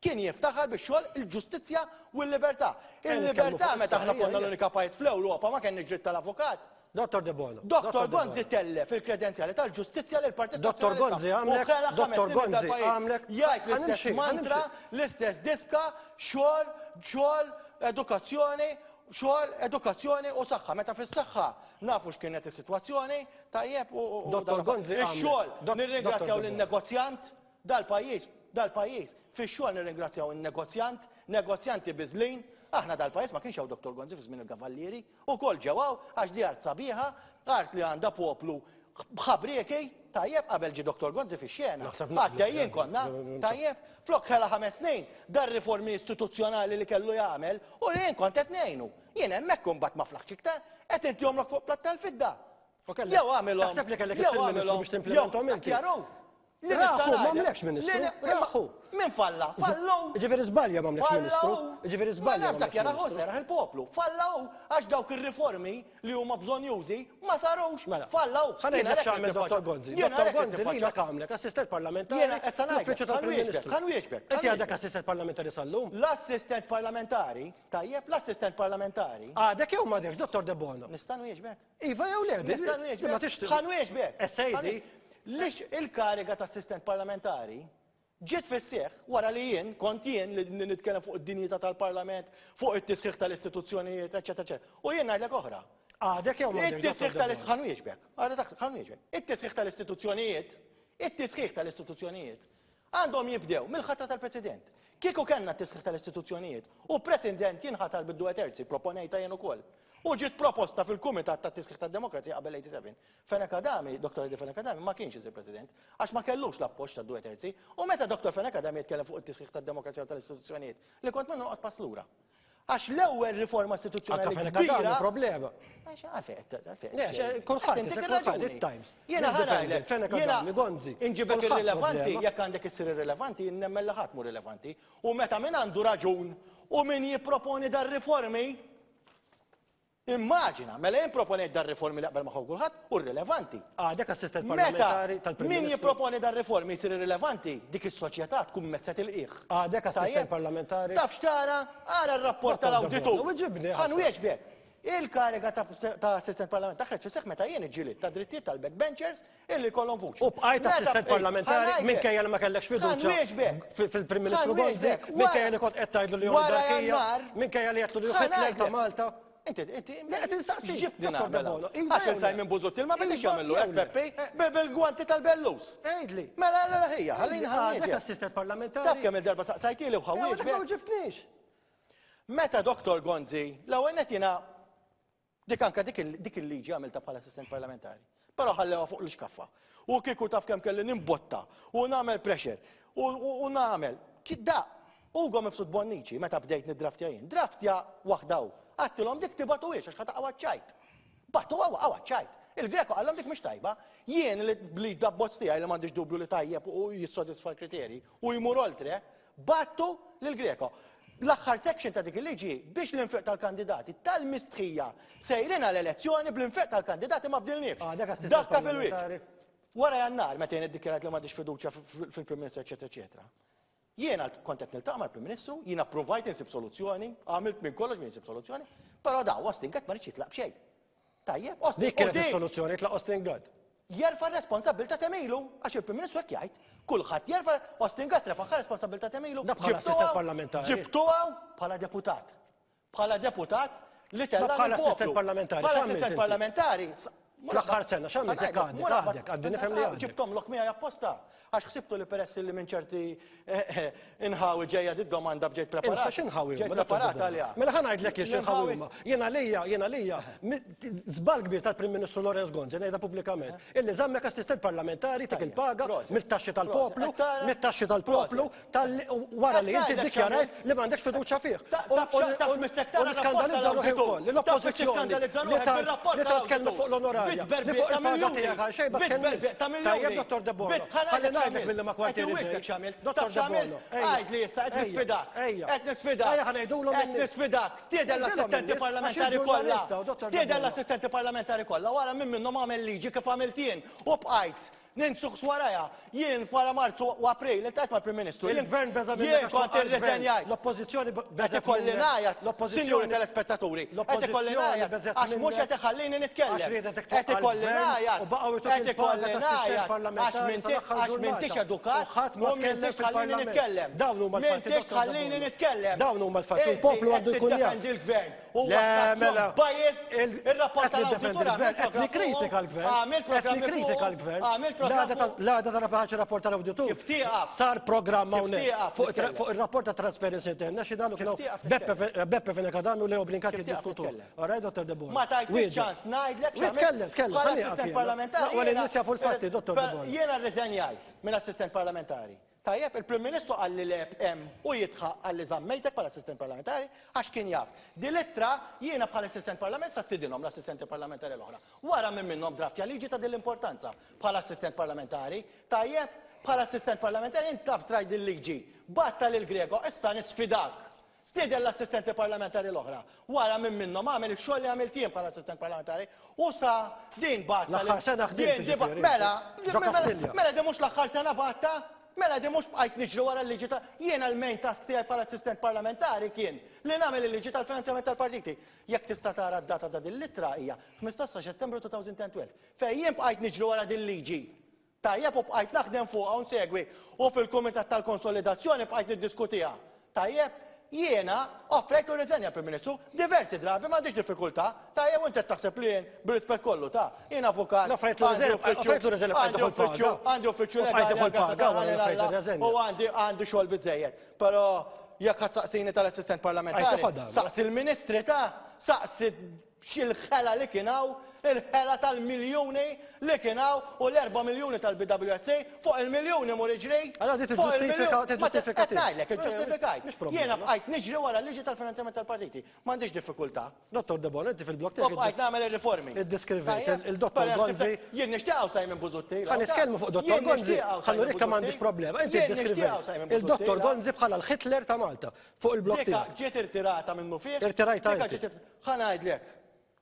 kien jiftaħar biex xogħol il-ġustizzja u l-libertà. Ejja nitkellmu Il-libertà fuq meta issa, aħna ejja, konna ejja. l-unika pajjiż fl-Ewropa ma kenniex dritt tal-avukat. Dottor Debono. Dottor Debono. Gonzi tellef il-kredenzjali tal-ġustizzja lil partit Dottor Nazzjonalista. Gonzi għamlek, U ħela ħames Dottor snin Gonzi dal-pajjiż. għamlek. Jgħid l-istess Ħanimxi, mantra, ħanimxi. l-istess diska, xogħol, xogħol, edukazzjoni, xogħol, edukazzjoni u saħħa. Meta fis-saħħa nafu x'kienet is-sitwazzjoni, tajjeb u u- u Dottor dan- Gonzi għamlek. Ix-xogħol, Dot- nirringrazzjaw Dottor Debono. lin-negozjant dal-pajjiż, dal-pajjiż. Fix-xogħol nirringrazzjaw in-negozjant, negozjanti biżlin. Aħna dal-pajjiż ma kienx hawn Dottor Gonzi fi żmien il-Kavallieri, ukoll ġew hawn għax di art sabiħa, art li għandha poplu b'ħabrieki, tajjeb qabel ġie Dottor Gonzi fix-xena. Naħseb naqblu. Għaddejjin konna, tajjeb, flok ħela 5 snin, dar riformi istituzzjonali li kellu jagħmel u jien kont qed ngħinu. Jien hemmhekk imbagħad ma flaħx iktar, qed intihomlok fuq platt tal-fidda. U kellek- Jew għamilhom. Taħseb li kellek jew issir ministru għamilhom, biex timplementhom jew inti? jaru. Li Raħu, nista' ma ngħidlek. għamlekx ministru, Li ni- raħu. Min falla? Fallu. Ġifieri żbalja ma għamlekx ministru. Ġifieri żbalja Ma nafx ma dak għamlekx jaraħu ministru. seraħ il-poplu. Fallaw għax dawk ir-riformi li huma bżonjużi ma sarux. Mela, Fallaw. ħa ngħidlek x'għamel Dottor Gonzi. Jiena Dottor għalhekk Gonzi nitfaċċa. lilek għamlek assistent parlamentari Jiena issa ngħidlek, fl-uffiċċju tal-Prim ħa nwieġbek, Ministru. ħa nwieġbek, ħa Inti għadek nwieġbek. assistent parlamentari sal-lum? L-assistent parlamentari, tajjeb, l-assistent parlamentari. Għadek jew m'għadekx, Dottor Debono? Nista' nwieġbek. Iva jew le? Nista' nwieġbek. Ma tixtieq. Ħa nwieġbek. Essejdi. Lix il-kariga ta' assistent parlamentari ġiet fis-seħħ wara li jien kont jien li nitkellem fuq id-dinjità tal-Parlament, fuq it-tisħiħ tal-istituzzjonijiet, eċetera, eċetera. U jien ngħidlek oħra. Għadek jew m'għadekx, It-tisħiħ Dottor tal-ist- Debono? ħa nwieġbek. Għadek ħa nwieġbek. It-tisħiħ tal-istituzzjonijiet, it-tisħiħ tal-istituzzjonijiet għandhom jibdew mill-ħatra tal-President. Kieku kellna t-tisħiħ tal-istituzzjonijiet u President jinħatar bid-due terzi, proponejta jien ukoll. U ġiet proposta fil-Kumitat ta' Tisħiħ tad-Demokrazija qabel 87. Fenech Adami, Dottor Eddie Fenech Adami, ma kienx isir President, għax ma kellux l-appoġġ ta' due terzi, u meta Dottor Fenech Adami jitkellem fuq it-tisħiħ tad-demokrazija u tal-istituzzjonijiet, li kont minnu noqgħod pass lura. Għax l-ewwel riforma istituzzjonali Anka Fenech Adami kbira problema. Għax għalfejn qed għalfejn Le, qed għax kulħadd, Qed intik isek kulħadd, ir-raġuni. it-Times. Jiena ħa L-Independent, ngħidlek, Fenech jiena Adami, Gonzi, inġibek kulħadd irrilevanti, problema. jekk għandek issir irrilevanti, nemmen li ħadd mhu rilevanti. U meta min għandu raġun u min jipproponi dar-riformi, immaġina, mela jien proponejt dar-riformi li qabel magħhom kulħadd u rilevanti. Għadek assistent Meta parlamentari tal-Prim min Ministru. jipproponi dar-riformi jsir irrilevanti, dik is-soċjetà tkun mezzet il-qiegħ. Għadek assistent Tajjeb? parlamentari. Taf x'tara? Ara r-rapport Dottor tal-awditur. Debono, u ġibni, Ħa ħaseb. nwieġbek. Il-kariga ta' assistent parlamentari taħreġ fis-seħħ meta jien iġġielid ta' drittijiet tal-backbenchers illi kollhom vuċi. U bqajt Meta assistent bqejt, parlamentari ħa ngħidlek. minkejja li ma kellekx fiduċja Ħa nwieġbek. fil-Prim Ministru Ħa Gonzi, nwieġbek. minkejja li kont qed tgħidlu li hu Wara oligarkija, Jannar. minkejja li għedtlu li hu Ħa Hitler ta' ngħidlek. Malta. Inti, inti, Le, qed insaqsik, x'ġibtni Dottor nagħmel Debono, hawn? iva Għax jew le? il-Simon Busuttil ma bidix Iva jagħmillu jew hekk le? Peppi bil-gwanti tal-bellus. Għidli. Mela, la, ħija, ħallini Għadek ħanwieġbek. assistent parlamentari. Taf kemm il-darba saqsajtieli u Eh, għadek ħawieġbek. ma ġibtnix. Meta Dottor Gonzi, l-ewwel nett jiena dik anka dik il- dik il-liġi għamilta bħala assistent parlamentari. Però ħallewha fuq l-iskaffa. U kieku taf kemm kelli nimbotta u nagħmel pressure u, u, u nagħmel. Da, Ugo Mifsud Bonnici, meta bdejt niddraftja jien, draftja waħda hu. Għattilhom dik tibatuhiex għax ħa taqgħu ċajt. Batu għawa ċajt. Il-Greco qallhom dik mhix tajba. Jien li bl-abbozz tiegħi li m'għandix dubju li tajjeb u jissodisfa l-kriterji u jmur oltre, bagħtu lill-Greco. L-aħħar section ta' dik il-liġi biex l-infiq tal-kandidati tal-mistħija sejrin għal elezzjoni bl-infiq tal-kandidati ma bdilniex. Għadek assistent Dakka fil-wiċċ. parlamentari. Wara Jannar meta jien iddikjarat li m'għandix fiduċja fil-Prim Ministru eċetera eċetera. Jiena kont qed niltaqa' mal-Prim Ministru, jiena provajt insib soluzzjoni, għamilt minn kollox biex insib soluzzjoni, però da Austin Gatt ma ridx jitlaq b'xejn. Tajjeb, Austin. Dik kienet u dik is-soluzzjoni, tlaq Austin Gatt. Jerfa' r-responsabbiltà kemm ilu, għax il-Prim Ministru hekk jgħid. Kulħadd jerfa' Austin Gatt refaħha responsabbiltà kemm ilu. Da bħala Ġibtuha- assistent parlamentari. Ġibtuha bħala deputat. Bħala deputat li tella' Ma bħala lill-poplu. assistent parlamentari, Bħala x'għamilt assistent inti? parlamentari. Fl-aħħar sena, x'għamilt jekk għadek, għadek, għaddi nifhem li għadek. Ġibtom lok miegħi apposta. Għax ħsibtu li peress li minn ċerti inħawi ġejja di domanda bġejt preparat. Inta x'inħawi Ġejt huma, Dottor preparat Debono? għaliha. Mela ħa ngħidlek jien x'inħawi L-inħawi- huma. Jien għalija, jien għalija, żball kbir tal-Prim Ministru Lawrence Gonzi, ngħidha pubblikament, illi żammek assistent parlamentari tik il-paga Proset. mit-taxxi tal-poplu, Proset. Tara- mit-taxxi tal-poplu, tal wara li Qed inti ngħidlek ddikjarajt x'għamilt. li m'għandekx fiduċja fih. Ta- U- taf u- xa- taf u- mis-sektar U rapport niskandalizza ruħi tal-awditur. wkoll li Taf l-oppożizzjoni tiskandalizza li ruħek tant bir-rapport li tant tkellmet tal-awditur. fuq l-onorarja, li Bitberbiq fuq ta' il-paga miljuni. tiegħek għal xejn ma Bitberbiq tkellimx. ta' miljuni. Tajjeb, Dottor Debono, Bit- ħa ħalli ngħidlek ngħidlek x'għamilt. billi ma kwartieri Qed inwiddek ġej. x'għamilt. Dottor Taf x'għamilt? Debono, ejja. Għid li issa qed Ejja, nisfidak. ejja. Qed nisfidak. Ejja, ħa ngħidulhom Qed in-nies. nisfidak. Stieden Ngħidilhom l-assistenti in-nies, għax parlamentari il-ġurnalista kollha. u Dottor Stieden Debono. l-assistenti parlamentari kollha. Wara minn minnhom għamel liġi kif għamilt jien u bqajt ninsuq warajha. Jien wara Marzu u April iltqajt mal-Prim Ministru. Jien- Il-gvern beża' minnek Jien għax kont waqa' l-gvern. irriżenjajt. L-oppożizzjoni Qed beżgħet ikolli minnek. ngħajjat, L-oppożizzjoni- sinjuri telespettaturi, qed ikolli L-oppożizzjoni ngħajjat beżgħet għax mhux minnek. qed iħallini nitkellem. Għax riedet Qed twaqqa' ikolli l-gvern ngħajjat, u baqgħu jtuk qed il-paga ikolli ta' assistent ngħajjat għax parlamentari m'intix sal-aħħar għax m'intix ġurnata. edukat U ħadd ma u tkellem m'intix tħallini fil-Parlament. nitkellem. Dawn huma l-fatti, M'intix Dottor tħallini Debono. nitkellem. Dawn huma l-fatti, Inti il-poplu qed għandu jkun jaf. tiddefendi l-gvern. U Le, mela. biased il-rapport Qed niddefendi tal-awditur l-gvern, għamilt qed programm nikkritika fuqu, l-gvern. Għamilt Qed programmi nikkritika fuqu, l-gvern. Għamilt programm fuqu. L-għada ta' rapaċi rapport tal-awditur. Kif tieqaf? Sar programm Kif hawnhekk tieqaf fuq nitkellem? fuq ir-rapport ta' Transparency International kienu tieqaf Beppe Beppe Fenech Adami u Leo Brincat Kif tieqaf jiddiskutu. nitkellem? All right, Dottor Debono. Ma tajtniex Wieġeb. ċans ngħidlek x'għamilt Tkellem, tkellem, bħala ħalli jaqaf assistent jiena. parlamentari. Naqwa li jiena- n-nies jafu l-fatti, Dottor Per- Debono. Jiena rriżenjajt minn assistent parlamentari. Tajjeb, il-Prim Ministru qal li leb hemm u jitħaq qal li żammejtek bħala assistent parlamentari għax kien jaf. Di l-ittra jiena bħala assistent parlamentari sa stidinhom l-assistenti parlamentari l-oħra. Wara minn minnhom draftja liġi ta' din l-importanza bħala assistent parlamentari. Tajjeb, bħala assistent parlamentari int taf traj din liġi. Batta lil Grego, issa nisfidak. Stieden l-assistenti parlamentari l-oħra. Wara minn minnhom għamel ix-xogħol li għamilt jien bħala assistent parlamentari u sa din batta. L-aħħar sena ħdimt Din di ba- ġifieri, Mela, ġo mela, Kastilja. mela di mhux l-aħħar sena batta, mela di mhux bqajt niġri wara l-liġi ta' jiena l-main task tiegħi bħala assistent parlamentari kien li nagħmel il-liġi tal-finanzjament tal-partiti. Jekk tista' tara d-data ta' din l-ittra hija 15 ta' Settembru 2012. Fejn jien bqajt niġri wara din liġi. Tajjeb u bqajt naħdem fuqha u nsegwi u fil-Kumitat tal-Konsolidazzjoni bqajt niddiskutiha. Tajjeb, jiena offrejt u riżenja Prim Ministru diversi drabi m'għandix diffikultà. Tajjeb u inti taħseb li jien bir-rispett kollu ta' jien avukat. Offrejtlu għandi riżenja, uffiċċju- offrejtlu riżenja bqajt għandi tieħu uffiċċju, l-paga. għandi uffiċċju U bqajt legali tieħu l-paga għal wara li offrejt Alla, ir-riżenja. u għandi għandi xogħol biżejjed. Però jekk ħassaqsini tal-assistent parlamentari, Għajt toħodha. saqsi l-ministri ta' saqsi xil-ħela li kien hawn, il-ħela tal-miljuni li kien hawn u l-4 miljuni tal-BWSA fuq il-miljuni mur iġri. Allora di fuq tiġġustifika- il-miljun- Ma tiġġustifika qed ngħidlek, tiegħek. iġġustifikajt. Mhix problema. Jiena bqajt niġri wara l-liġi tal-finanzjament tal-partiti. M'għandix diffikultà. Dottor Debono, inti fil-blog U tiegħek bqajt nagħmel ir-riformi. iddiskrivejt Tajjeb? il-Dottor Però Gonzi. Jien nixtieqgħu Simon Busuttil. Ħa nitkellmu fuq Dottor Jien Gonzi, nixtieqgħu ħa Simon nurik kemm m'għandix Busuttil. problema. Inti Jien nixtieqgħu iddiskrivejt Simon il-Dottor Busuttil. Gonzi bħala l-Hitler ta' Malta fuq il-blog Dika tiegħek. ġiet irtirata minnu fih. Irtirajta Dika inti. ġiet irtirata. Ħa ngħidlek.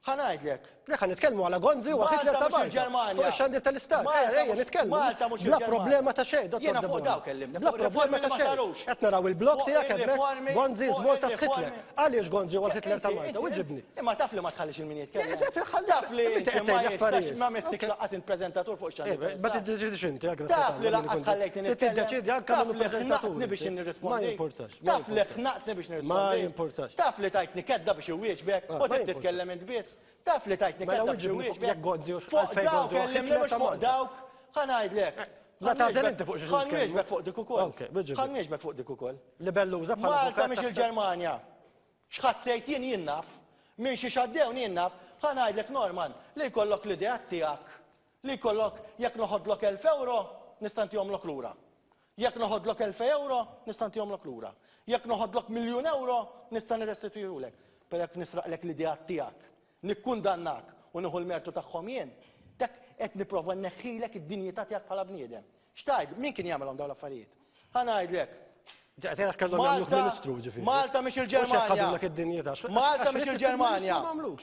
Ħa ngħidlek. Le ħa nitkellmu għala Gonzi u Hitler Malta ta' mhux Malta. il-Ġermanja. Fuq ix-xandir tal-Istat. Malta Ejja, ejja, mhux- nitkellmu. Malta mhux Bla il-Ġermanja. problema ta' xejn, Dottor Jiena fuq Debono. dawk kellimni, Bla fuq problema riformi ta' li ma xejn. sarux. Qed naraw il-blog Fuq tiegħek hemmhekk ir-riformi- Gonzi fuq is Malta ir-riformi- Hitler. Għaliex Gonzi huwa Hitler ta' Inti- Malta? inti- Uġibni. Imma taf li ma tħallix il-min jitkellem. Le, le, ħalli- Taf li inti inti qed ma tgħid jistax affarijiet. ma mistik Ok. laqqas il-preżentatur fuq xandir. Eh, Ma tiddeċidix inti, għagra. Taf li laqqas ħallejtni nitkellem. Tiddeċidi anke Taf minnu li preżentatur. ħnaqtni biex nirrispondi. Ma jimpurtax. ma Taf li jimpurtax. ħnaqtni biex nirrispondi. Ma jimpurtax. Taf li tajtni kedda biex iwieġbek Ah, u ma trid jimpurtax. titkellem int biss. Taf li tajtni Mela kedda biex wieġibni fuq iwieġbek. jekk Gonzi u Fuq għalfejn dawk Gonzi huwa kellimni Hitler mhux ta' fuq Malta. dawk. Ħa ngħidlek. La tagħżel inti fuq xiex Ħa nitkellmu. nwieġbek fuq dik ukoll. Ok, wieġibni. Ħa nwieġbek fuq dik ukoll. Libelluża bħala Malta avukat mhix taħseb- il-Ġermanja. X'ħassejt jien jien naf, minn xi xaddewni jien naf, ħa ngħidlek Norman li jkollok l-idea tiegħek, li jkollok jekk noħodlok 1000 euro nista' ntihomlok lura. Jekk noħodlok 1000 euro nista' ntihomlok lura. Jekk noħodlok miljun euro nista' nirrestitujulek. Però jekk nisraqlek l-idea tiegħek, nikkundannak u nieħu l-mertu tagħhom jien, qed nipprova nneħħilek id-dinjità tiegħek bħala bniedem. X'tgħid, min kien jagħmelhom dawn l-affarijiet? Ħa ngħidlek. Qed kellhom jagħmluk ministru ġifieri. Malta mhix il-Ġermanja. Malta mhix il-Ġermanja.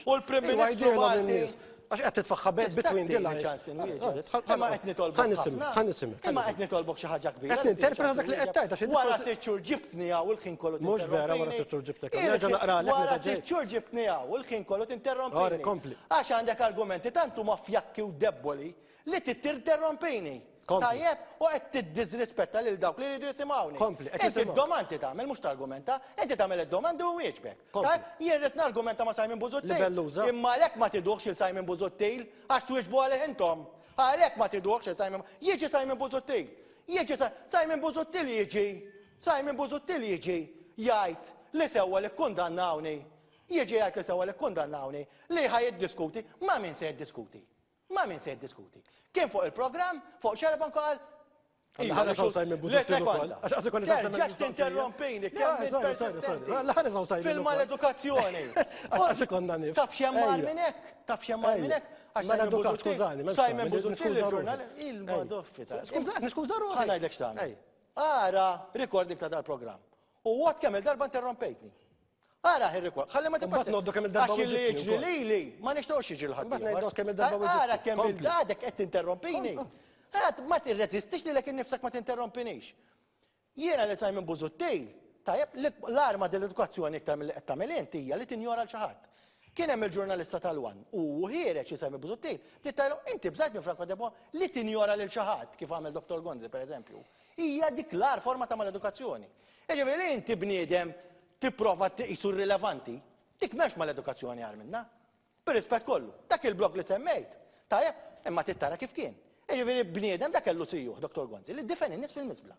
U l-Prim Ministru Malti. Għax qed titfaħħa between the lines. Imma qed nitolbok. Ħa nisimgħek, ħa nisimgħek. Imma qed nitolbok xi ħaġa kbira. Qed ninterpreta dak li qed tgħid għax Wara sitt xhur ġibtni hawn il-ħin kollu Mhux vera wara sitt xhur ġibtek. Nerġa' naqralek Wara sitt xhur ġibtni hawn il-ħin kollu tinterrompini. Kompli. Għax għandek argumenti tant huma fjakki u debboli li tinterrompini. Tajjeb, u qed tiddisrispetta lil dawk li jridu jisimgħuni. Kompli, qed Inti d-domandi tagħmel mhux targumenta, inti tagħmel id-domandi u wieġbek. Tajjeb, jien rrid nargumenta ma' Simon Busuttil. Libelluża. Imma għalhekk ma tiduhx lil Simon Busuttil għax twieġbu għalih intom. Għalhekk ma tiduhx lil Simon. Jiġi Simon Busuttil. Jiġi Simon Busuttil jiġi. Simon Busuttil jiġi jgħid li sewwa li kkundannawni. Jiġi jgħid li sewwa li kkundannawni li ħa jiddiskuti. Ma' min se jiddiskuti? Ma' min se jiddiskuti? Kien fuq il-programm, fuq Xarabank u qal, Iva, ħares hawn Simon Busuttil ukoll. Għax qas ikolli Terġax tinterrompini, kemm int persistenti. Ħares hawn Simon. Fil-maledukazzjoni. Għax ikollna nifs. Taf x'hemm agħar minn hekk? Taf x'hemm agħar minn hekk? Għax Maledukat, skużani. Simon Busuttil il-ġurnal il-madoffi ta' Skużani, niskuża ruħi. Ħa ngħidlek x'tagħmel. Ara recording ta' dal-programm. U għad kemm il-darba interrompejtni. Ara ir-rekord, ħalli ma tibqax. Mbagħad ngħoddu kemm il-darba Għax li jiġri lili ma nixtieqx jiġri l-ħadd. Mbagħad ngħidu kemm il-darba weġibtni. Ara kemm il-għadek qed tinterrompini. Għad ma tirreżistix lilek innifsek ma tinterrompinix. Jiena li Simon Busuttil, tajjeb, l-arma dell-edukazzjoni iktar milli qed tagħmel int hija li tinjora l xi ħadd. Kien hemm il-ġurnalista tal-One u ħiereġ li Simon Busuttil, bdiet tgħidlu inti bżajt minn Franco Debono li tinjora lil xi ħadd kif għamel Dottor Gonzi pereżempju. Hija dik l-agħar forma ta' maledukazzjoni. Jiġifieri li inti bniedem tipprova tqisu rrilevanti, dik m'hemmx maledukazzjoni agħar minnha. Bir-rispett kollu. Dak il-blog li semmejt, tajjeb, imma trid tara kif kien. Jiġifieri bniedem dak kellu sijuh, Dottor Gonzi, li difen in-nies fil-miżbla.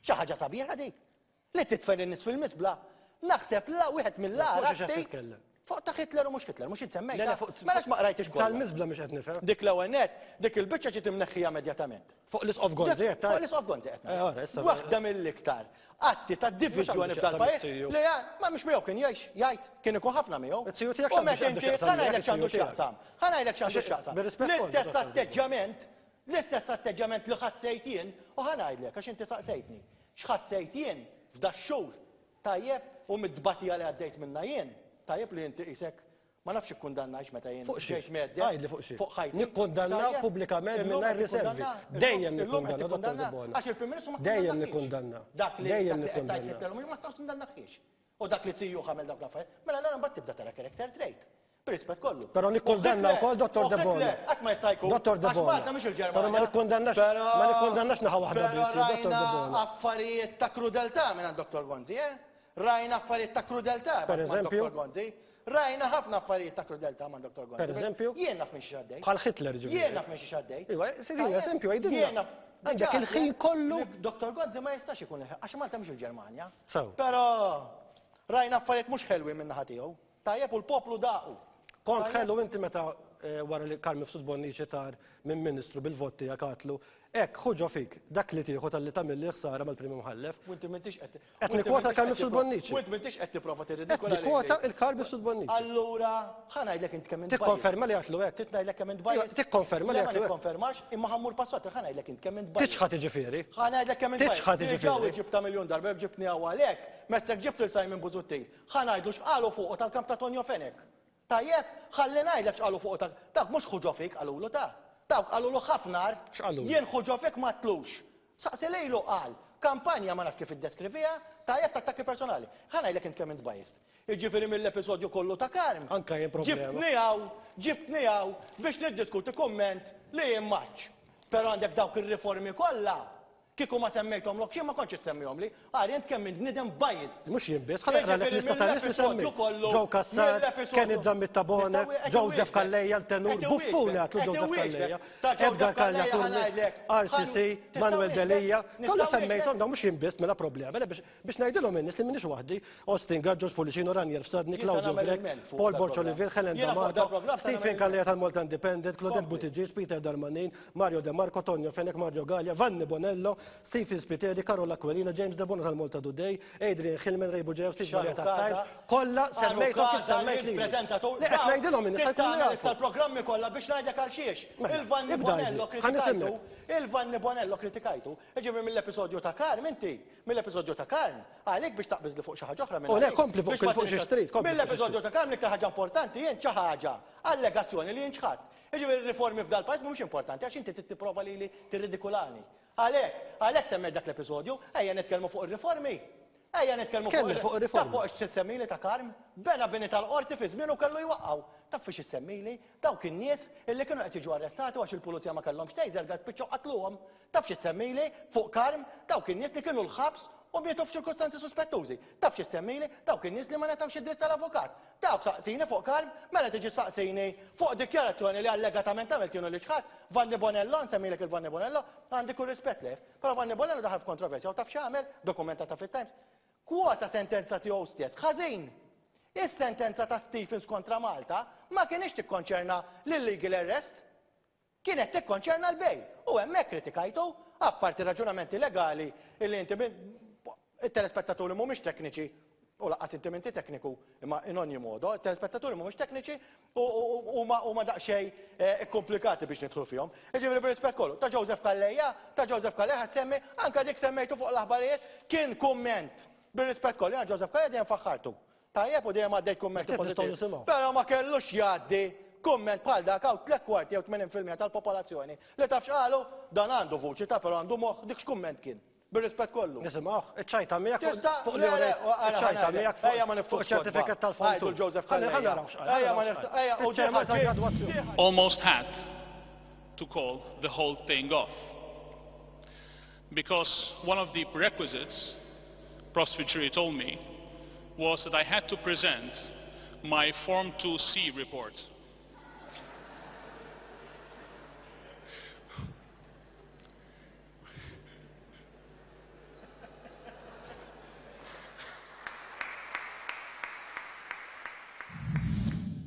Xi ħaġa sabiħa dik? Li tidfen in-nies fil-miżbla, naħseb la wieħed mill-agħar atti Fuq ta' Hitler u mhux Hitler, mhux int semmejtha? Le, le, fuq. Mela għax ma qrajtix kollha. Tal-miżbla mhux qed nifhem. Dik l-ewwel nett, dik il-biċċa ġiet imneħħija immedjatament. Fuq l-Isqof Gonzi qed tgħid? Fuq l-Isqof Gonzi qed ngħid. Eh, ora, issa. Waħda mill-iktar atti ta' diviżjoni f'dal-pajjiż li ma mhux miegħu kien jgħix, jgħid, kien ikun ħafna miegħu. Iz-ziju tiegħek U meta inti, ħa ngħidlek x'għandu x'jaqsam. Ħa ngħidlek x'għandu x'jaqsam. L-istess atteġġjament, l-istess atteġġjament li ħassejt jien, u ħa ngħidlek għax inti saqsejtni, x'ħassejt jien f'dax-xhur Tajjeb, u mit-tbatija li għaddejt minnha jien, tajjeb li inti qisek, ma nafx ikkundannajtx meta jien Fuq xiex? ġejt mgħedded. Għidli fuq xiex. Fuq ħajti. Nikkundanna Tajjeb? pubblikament Illum mingħajr qed riservi. tikkundanna? Dejjem Illum qed nikkundanna, Dottor tikkundanna? Debono. Għax il-Prim Ministru ma Dejjem kkundannakiex. nikkundanna. Dak li Dejjem dak li qed tgħid nikkundanna. Hitler u ma kkundannakiex. U dak li zijuh għamel dawk l-affarijiet. Mela allura mbagħad tibda tara character trait. Bir-rispett kollu. Però nikkundanna wkoll Dottor Debono. Hitler qatt ma jista' jkun. Dottor Debono. Għax Malta mhix il-Ġermanja. Però ma nikkundannax ma nikkundannax naħa waħda biss, Però Dottor Debono. rajna affarijiet ta' krudeltà minn Dottor Gonzi, eh? Rajna affarijiet ta' krudeltà Per eżempju? Dottor Gonzi. Rajna ħafna affarijiet ta' krudeltà ma' Dottor Gonzi. Per eżempju? Jien naf minn xi għaddej. Bħal Hitler ġifieri. Jien naf minn xi għaddej. Iva, sidina, eżempju, għidilna. Għandek il-ħin kollu. Dottor Gonzi ma jistax ikun għax Malta mhix il-Ġermanja. Sew. Però rajna affarijiet mhux ħelwin minn naħa tiegħu. Tajjeb u l-poplu daqu. Kont ħelu inti meta wara li Carm Mifsud Bonnici tar minn Ministru bil-vot tiegħek għatlu, hekk ħu ġo fik dak li tieħu talli tagħmilli ħsara mal-Prim Imħallef. U inti m'intix qed Qed nikkwota Carm Mifsud Bonnici. U inti m'intix qed tipprova Qed tirridikola lili. nikkwota il-Carm Mifsud Bonnici. Allura, ħa ngħidlek int kemm int biased. Tikkonferma li għatlu hekk? Trid ngħidlek kemm int biased? Tikkonferma li Le ma għatlu hekk? nikkonfermax, imma ħa mmur pass oltre, ħa ngħidlek int kemm int biased. Tiċħad jiġifieri. Ħa ngħidlek kemm int biased. Tiċħad Diġà jiġifieri. ġibtha miljun darba, jekk ġibtni hawn għalhekk, messek ġibt lil Simon Busuttil. Ħa ngħidlu x'qalu fuqu tal-kamp ta' Tonio Fenech. Tajjeb? Ħalli ngħidlek x'qalu fuqu tal-, dawk mhux ħu ġo fik qalulu ta. Dawk qalulu ħafna agħar. X'qalulu? Jien ħu ġo fik m'għadtlux. Saqsi lilu qal. Kampanja ma nafx kif iddeskriviha, tajjeb ta' attakki personali. Ħa ngħidlek int kemm int biased. Jiġifieri mill-episodju kollu ta' Karm. Anke jien problema. Ġibtni hawn, ġibtni hawn biex niddiskuti kumment li jien m'għadtx. Però għandek dawk ir-riformi kollha Kieku ma semmejthomlokx jien ma kontx issemmihomli. Ara int kemm int bniedem biased. Mhux jien biss, ħa naqralek lista ta' nies li semmejt. Joe Cassar, Kenneth Zammit Tabone, Joseph Calleja l-tenur, buffuni għatlu Joseph Calleja, Edgar Calleja Turni, RCC, Manuel Delia, kollha semmejthom dawn mhux jien biss mela problema, le biex ngħidilhom in-nies li m'iniex waħdi, Austin Gatt, George Pullicino, Ranier Fsadni, Claudio Grech, Paul Borg Olivier, Helen D'Amato, Stephen Calleja tal-Malta Independent, Claudette Buttigieg, Peter Darmanin, Mario De Marco, Tonio Fenech, Mario Galea, Vanni Bonello, Stephen Spiteri, Karol Aquilina, James Debono tal-Malta Today, Adrian Hillman, Ray Bugeja, Steve Maria tat-Times, kollha semmejthom kif semmejt lili. Le qed ngħidilhom in-nies ħa jkunu jafu. Issa l-programmi kollha biex ngħidlek għal xiex. Mela, Il-Vanni ibda Bonello għidli, ħa kritikajtu, nisimgħek. il-Vanni Bonello kritikajtu, jiġifieri mill-episodju ta' Karm inti, mill-episodju ta' Karm, għalik biex taqbiżli fuq xi ħaġa oħra minn U le, għalik. kompli fuq Biex ma fuq xi tinsax. xtrid, kompli fuq xi Mill-episodju xtrid. ta' Karm l-iktar ħaġa importanti jien xi ħaġa, allegazzjoni li jien ċħadt. Jiġifieri r-riformi f'dal-pajjiż mhumiex importanti għax inti trid tipprova lili tirridikulani. Għalhekk, għalhekk semmejt dak l-episodju, ejja nitkellmu fuq ir-riformi. Ejja nitkellmu fuq Tkellem fuq ir-riformi. Taf fuq x'issemmili ta' Karm? Bena bini tal-qorti fi żmienu kellu jwaqqgħu. Taf fiex issemmili? Dawk in-nies illi kienu qed jiġu arrestati u għax il-pulizija ma kellhomx taser gas spiċċaw qatluhom. Taf x'issemmili fuq Karm? Dawk in-nies li kienu l-ħabs u mietu f'ċirkustanzi suspettużi. Taf x'issemmili? Dawk in-nies li ma ngħatawx id-dritt tal-avukat. Dawk saqsini fuq Karm, mela tiġi ssaqsini fuq dikjarazzjoni li allegatament għamilt jien u li ċħadt. Vanni Bonello, nsemmilek il-Vanni Bonello, għandi kull rispett lejh. Però Vanni Bonello daħal f'kontroversja u taf x'għamel? Dokumentata fit-Times. Kwota sentenza tiegħu stess. Ħażin! Is-sentenza ta' Stephens kontra Malta ma kinitx tikkonċerna l-illegal arrest. Kienet tikkonċerna l-bail. U hemmhekk kritikajtu, apparti raġunamenti legali illi inti it-telespettaturi mhumiex tekniċi, u lanqas inti m'inti tekniku, imma in ogni modo, it-telespettaturi mhumiex tekniċi u huma huma daqsxejn ikkumplikati biex nidħlu fihom. Jiġifieri bir-rispett kollu, ta' Joseph Calleja, ta' Joseph Calleja ħa ssemmi, anke dik semmejtu fuq l-aħbarijiet, kien kumment. Bir-rispett kollu, jiena Joseph Calleja dejjem faħħartu. Tajjeb u dejjem għaddejt kummenti pożittivi. Però ma kellux jgħaddi kumment bħal dak hawn tlett kwarti jew 80% tal-popolazzjoni li taf x'qalu? Dan għandu vuċi ta' però għandu moħħ, dik x'kumment kien? Bir-rispett kollu. Nisimgħuh, iċ-ċajta miegħek fuq li iċ-ċajta miegħek fuq iċ-ċertifikat tal-fond. Għidu l-Joseph Calleja. Ejja ma niftħux. Ejja u ġie Almost had to call the whole thing off. Because one of the prerequisites, Prof. Spiteri told me, was that I had to present my Form 2C report.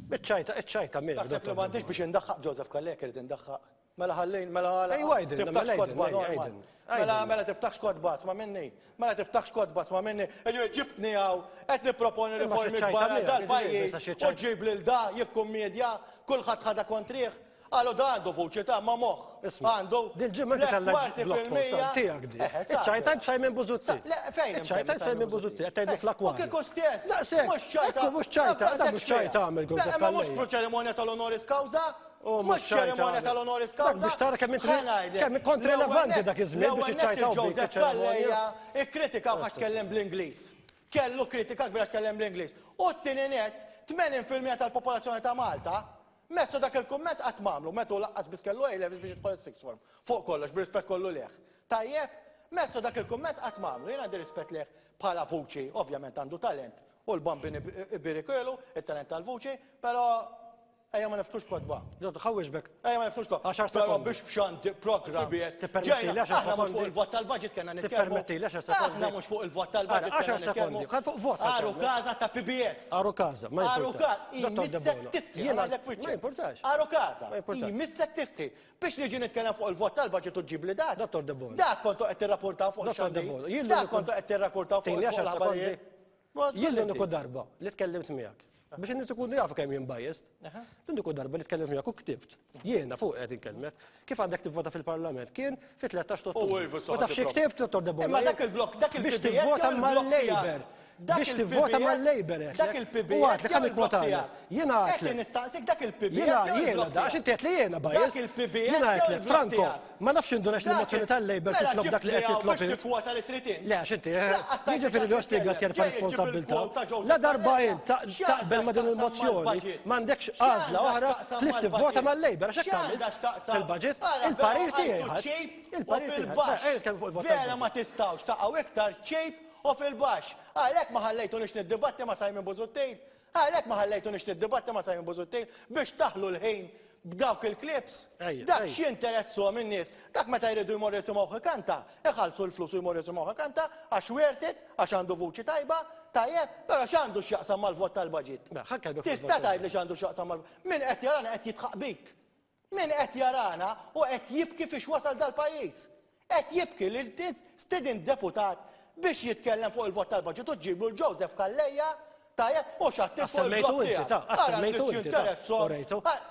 Iċ-ċajta, iċ-ċajta miegħek. Taħseb li m'għandix biex indaħħaq Joseph Calleja irid indaħħaq. Mela ħallejn, mela għala. Ejwa għidilna, Tiftaħx mela kotba, għidilna, Norman. għidilna. Mela, mela tiftaħx kotba, sma' minni. Mela tiftaħx kotba, sma' minni. Jiġifieri ġibtni hawn, qed nipproponi Imma xi riformi ċajta kbar għal miegħek, dal-pajjiż jiġifieri, xi u ċajta. ġġib lil da jikkummedja, kulħadd ħadha kontrih. Qalu da għandu vuċi ta' ma moħħ. Isma', Għandu dil-ġimgħa inti tliet tellajt kwarti blog post fil-mija. tiegħek di. Eħe, sa. Iċ-ċajta b'Simon Busuttil. Le, fejn hemm Iċ-ċajta Simon b'Simon Busuttil, qed tgħidlu U fl-akwarju. kieku stess. Daqshekk, Mhux ċajta. ekku mhux ċajta, da mhux ċajta għamel Le, Joseph imma mhux Calleja. f'ċerimonja tal-onoris causa. U Mhux ċerimonja tal-onoris causa. Dak biex tara kemm inti kemm kont rilevanti dak iż-żmien biex iċċajtaw bik Joseph iċ-ċerimonja. Calleja ikkritika għax tkellem bl-Ingliż. Kellu kritika kbira tkellem bl-Ingliż. U t-tieni nett, 80% tal-popolazzjoni ta' Malta messu dak il-kumment qatt m'għamlu, meta hu laqqas biss kellu A-levels biex jidħol is-sixth form. Fuq kollox, bir-rispett kollu lejh. Tajjeb, messu dak il-kumment qatt m'għamlu. Jien għandi rispett lejh bħala vuċi, ovvjament għandu talent u l-bambin ibirikielu it-talent tal-vuċi, però Ejja ma niftux kotba. Dottor, ħa wieġbek. Ejja ma niftux kotba. Għaxar Però sekondi. biex b'xandi programm PBS. Tippermetti li għaxar Aħna mhux fuq sekondi. il-vot tal-budget kellna nitkellmu. Tippermetti li għaxar sekondi. Aħna mhux fuq il-vot tal-budget Ara, kellna għaxar sekondi. nitkellmu. Ħa fuq vot ħa Aru nitkellmu. kaza ta' PBS. Aru kaza, ma Aru jimpurtax. kaza, Dottor jmissek Debono. tistħi, Jiena- għalek f'wiċċek. Ma jimpurtax. Aru kaza, Ma jimpurtax. jmissek tistħi. Biex niġi nitkellem fuq il-vot tal-budget u ġib li dak. Dottor Debono. Dak kontu qed tirrapportaw fuq Dottor ix-xandir. Debono, jien Dak l-uniku- kontu qed tirrapportaw fuq Tini għaxar l-aħbarijiet. sekondi. Ma Jien l-uniku inti. darba li tkellimt miegħek. Biex in-nies ikunu jafu kemm jien biased. L-uniku darba li tkellimt miegħek u ktibt. Jiena fuq qed inkellmek. Kif għandek tivvota fil-Parlament? Kien fi-13 ta' U Ottubru. iva, U saħħa taf xi tipprova. ktibt, Dottor Debono? Imma dak il-blok, dak Biex il-PBS tivvota jew il-blok mal-Labour. tiegħek? Dak Biex il-PBS tivvota mal-Labour qed. Dak il-PBS U għadlek jew ħa il-blok nikkwotalek. tiegħek? Jiena Qed għedtlek. nistaqsik dak il-PBS Jiena jew jiena il-blok da, għax tiegħek? inti qed li jiena biased. Dak il-PBS Jiena jew għedtlek, il-blok Franco, tiegħek? ma nafx indunex Dak l-mozzjoni il- tal-Labour Mela titlob dak li qed ġibni hawn titlob biex int. tikkwota li trid int. Le, għax inti, eh, Laqqas tajt jiġifieri li biex ostiga titkellem. terfa' Ġej ġib responsabbiltà. il-quote ta' Joseph La darba Calleja. int ta- X'għandha taqbel ma' din x'taqsam il-mozzjoni, mal-budget? m'għandekx għażla X'għandha oħra x'taqsam ħlief tivvota mal-budget? mal-Labour għax hekk X'għandha tagħmel x'taqsam? fil-budget. Ara, Il-parir però tiegħi għandu ħadd. ċejp u Il-parir tiegħi ħadd. fil-baxx. Ejja nitkellmu fuq il-vot Vera tal-budget. ma tistgħux taqgħu iktar ċejp u fil-baxx. Għalhekk ma ħallejtunix niddibatti ma' Simon Busuttil. Għalhekk ma ħallejtunix niddibatti ma' Simon Busuttil biex taħlu l-ħin b'dawk il-clips. Ejja, Dak ejja. x'jinteressuhom in-nies. Dak meta jridu jmorru jisimgħuh ikanta, iħallsu l-flus u jmorru jisimgħuh ikanta għax worth it, għax għandu vuċi tajba, tajjeb, però x'għandu x'jaqsam mal-vot tal-budget? Mela, ħa nkellmek fuq Tista' il-vot tgħidli x'għandu x'jaqsam mal Min qed jarana qed jidħaq bik. Min qed jarana u qed jibki fiex wasal dal-pajjiż. Qed jibki li stidint deputat biex jitkellem fuq il-vot tal-budget u ġġiblu 'l Joseph Calleja, tajjeb, u xattit fuq il-blog tiegħek. Ara n-nies jinteressahom.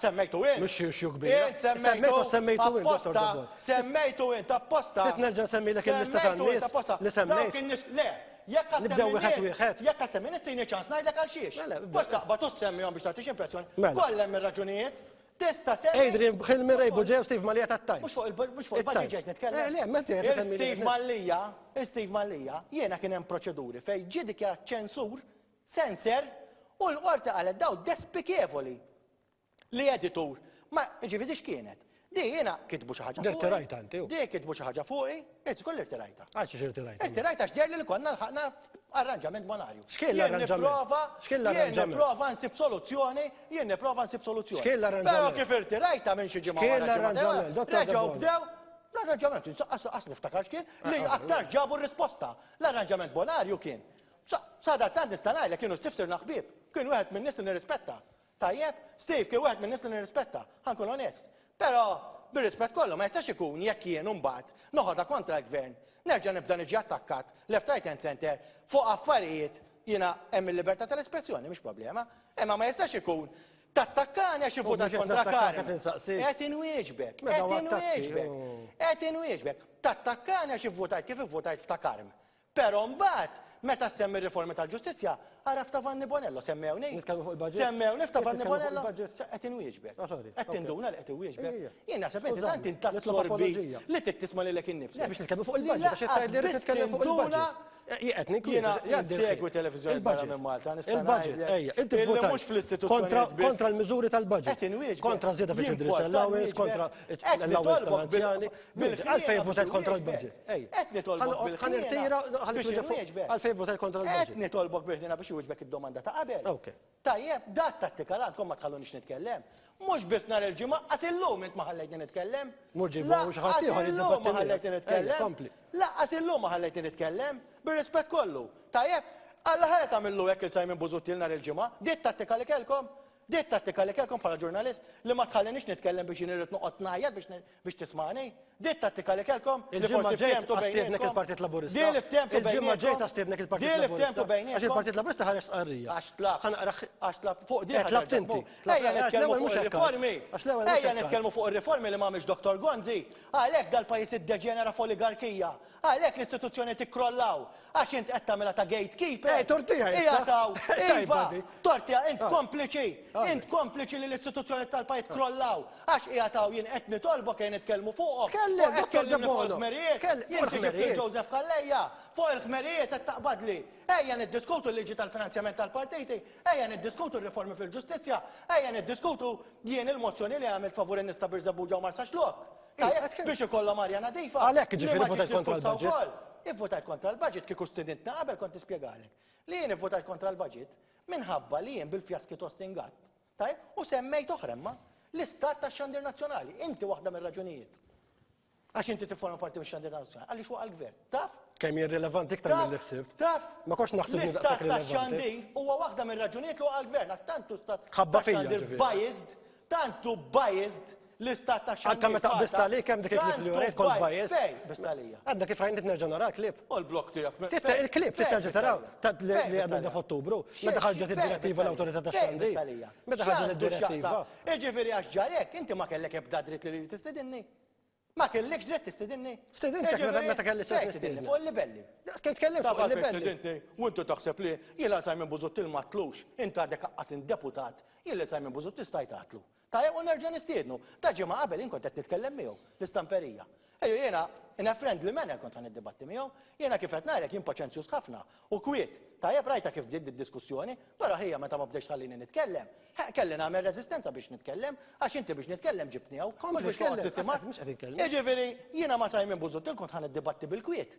Semmejtu int. Mhux xi issue kbira. Int semmejtu. Semmejtu int, Dottor Debono. Semmejtu int apposta. Trid nerġa' nsemmilek il-lista tan-nies li semmejt? Dawk in-nies, le, jekk għad Nibdew wieħed wieħed. Jekk għad semmi nies tini ċans ngħidlek għal xiex. Mela, Mhux taqbad u ssemmihom biex tagħtix impressjoni. Mela. Kollha hemm ir-raġunijiet. Tista' semmi. Adrian Hilmi Ray Bugeja u Steve Mallia tat-Times. Mhux fuq il mhux fuq il-budget ġejt nitkellem. Eh, le, meta qed isemmi Steve Mallia, Steve Mallia, jiena kien hemm proċeduri fejn ġie dikjarat ċensur, censor, u l-qorti qalet daw despikevoli li editur. Ma ġifieri x'kienet? Di jiena kitbu xi ħaġa fuqi. Irtirajta inti. Di kitbu xi ħaġa fuqi, int żgur li rtirajta. Għal xiex irtirajta? Irtirajta għax deher li konna lħaqna arranġament bonarju. X'kien l-arranġament? X'kien l-arranġament? Jien nipprova nsib soluzzjoni, jien nipprova nsib soluzzjoni. X'kien l-arranġament? Però kif irtirajta minn xi ġimgħa X'kien l-arranġament? Reġgħu bdew l-arranġament, qas niftakar x'kien, li aktar ġabu r-risposta. L-arranġament bonarju kien. Sadattant nista' ngħidlek kienu stifsirna ħbieb, kien wieħed min-nies li nirrispetta. Tajjeb, Steve kien wieħed min-nies li nirrispetta, ħa nkun onest. Però, bir-rispett kollu, ma jistax ikun jekk jien imbagħad noħodha kontra l-Gvern, nerġa' nibda niġi attakkat left, right and centre fuq affarijiet, jiena hemm il-libertà tal-espressjoni, mhix problema, imma ma jistax ikun tattakkani għax ivvutat kontra Carm. Qed inwieġbek, qed inwieġbek, qed inwieġbek. Tattakkani għax ivvutajt kif ivvutajt f'ta' Carm. Però mbagħad, meta ssemmi r-riformi tal-ġustizzja, ara f'ta' Vanni Bonello, semmewni? Nitkellmu fuq il-budget? Semmewni f'ta' Vanni Nitkellmu fuq Bonello? il-budget? Se qed inwieġbek. Ah, sorry. Qed Ok. tinduna li qed inwieġbek? Ejja. Jien naħseb inti Skużani, tant int nitlob tassorbi apoloġija. li trid tisma' lilek innifsek. Le, biex nitkellmu fuq il-budget, għax qed tgħidli rrid Lanqas nitkellem fuq biss il-budget. tinduna Jien qed ninkwita, Jiena jgħaddi l-ħin. insegwi televiżjoni barra Il-budget. minn Malta, nista' Il-budget, ngħidlek ejja, inti illi vvotajt mhux fl-istituzzjonijiet kontra biss. kontra l-miżuri tal-budget. Qed inwieġbek. Kontra żieda fi Jien children's porta allowance, nwieġbek. kontra Qed l-allowance nitolbok bil- tal-anzjani. bil-ħniena Għalfejn biex votajt kontra inwieġbek. l-budget. Ejja. Qed nitolbok Ħan- bil-ħniena Ħan irtira, ħalli biex twieġeb fuq- inwieġbek. għalfejn votajt kontra l-budget. Qed nitolbok bil-ħniena biex iwieġbek id-domanda ta' qabel. Ok. Tajjeb, dat tattika l għandkom ma tħallunix nitkellem. Mhux biss nhar il-Ġimgħa, qas illum int ma ħallejtni nitkellem. Mhux ġibu xi ħadd ieħor Lanqas illum ma jiddibatti miegħek. ħallejtni Ejja, nitkellem. kompli. Lanqas illum ma ħallejtni nitkellem, bir-rispett kollu. Tajjeb, Alla ħares għamillu hekk il Simon Busuttil nhar il-Ġimgħa, di t-tattika li kellkom? Di t-tattika li kellkom bħala ġurnalist li ma tħallinix nitkellem biex jien irrid noqgħod ngħajjat biex biex tismagħni? Di t-tattika li kellkom li Il-ġimgħa forsi ġejt ftehemtu għastiednek bejnietkom? il-Partit Laburista. Di li ftehemtu Il-ġimgħa bejnietkom? ġejt għastiednek il-Partit Di li ftehemtu Laburista. Għax bejnietkom? il-Partit Laburista ħareġ stqarrija. Għax tlabt. Ħa naqra Għax tlabt fuq di Eh, tlabt ħa inti. nerġa' Tlabt- Ejja għax nitkellmu l-ewwel fuq mhux hekk ir-riformi. Għax l-ewwel mhux Ejja hekk nitkellmu fuq ir-riformi li m'għamilx Dottor Gonzi. Għalhekk dal-pajjiż iddeġenera f'oligarkija. Għalhekk l-istituzzjonijiet ikkrollaw. Għax int qed tagħmilha ta' gatekeeper. Eh, tortija issa. Hija taw. Tajba Iva, di. tortija int Ah. kompliċi. Ah. Int kompliċi li l-istituzzjonijiet tal-pajjiż krollaw. Għax hija taw jien qed nitolbok jien nitkellmu fuqhom. Tkellem, U qed Dottor tkellimni fuq Debono. il-ħmerijiet. Tkellem, Jien fuq tiġi fil il-ħmerijiet. Joseph Calleja, fuq il-ħmerijiet qed taqbadli. Ejja niddiskutu l-liġi tal-finanzjament tal-partiti, ejja niddiskutu r-riformi fil-ġustizzja, ejja niddiskutu jien il-mozzjoni li għamilt favur in-nies ta' Birżebbuġa u Marsaxlokk. Tajjeb, biex ikollhom arja nadifa. Għalhekk Li ġifieri ma votajt ġietx kontra diskussa l-budget. wkoll. Ivvotajt kontra l-budget kieku stidintna qabel kont nispjegalek. Li jien ivvotajt kontra l-budget minħabba li jien bil-fjaski Tostin Gatt. Tajjeb, u semmejt oħra imma l-istat tax-xandir nazzjonali. Inti waħda mir-raġunijiet. Għax inti tifforma parti mix-xandir nazzjonali. Għaliex waqa' l-gvern. Taf? Kemm jien rilevanti iktar Taf? milli ħsibt. Taf? Ma kontx naħseb li L-istat daqshekk rilevanti. tax-xandir huwa waħda mir-raġunijiet li waqa' l-gvern. Għax tant hu stat Ħabba fija, tax-xandir ġifieri. biased, tant hu biased l-istat tax-xandir. Anke meta Malta, qbist għalik hemm dik il-klip li tant hu urejt kont biased. biased. Fejn qbist għalija? Għadna kif rajn nerġa' nara klip. U l-blok tiegħek. Tifta il-klip titerġa' taraw ta' li li għamilna f'Ottubru meta ħarġet id-direttiva l-awtorità tax-xandir. Meta ħarġet id-direttiva. Jiġifieri għax ġarek, inti ma kellek ebda dritt li tistedinni. Ma kellekx dritt tistedinni. Stedintek meta- meta kelli ċans Fejn tistedinni? nistednek. Fuq il-livelli. Kemm tkellimt Taf fuq għalfejn il-livelli. stedinti, u inti taħseb li jien għal Simon Busuttil ma tlux, int għadek aqqas deputat, jien li Simon Busuttil stajt għatlu. Tajjeb u nerġa' nistiednu. Ta' ġimgħa qabel jien kont qed nitkellem miegħu, l-istamperija. Ejju jiena in a friendly manner kont ħa niddibatti miegħu, jiena kif qed ngħidlek jien paċenzjuż ħafna u kwiet. Tajjeb rajta kif bdiet id-diskussjoni, però ħija meta ma bdejx tħallini nitkellem. He, kelli nagħmel reżistenza biex nitkellem, għax inti biex nitkellem ġibtni hawn, Kompli mhux biex noqgħod tkellem, nisimgħek. mhux qed inkellem. Jiġifieri jiena ma' Simon Busuttil kont ħa niddibatti bil-kwiet.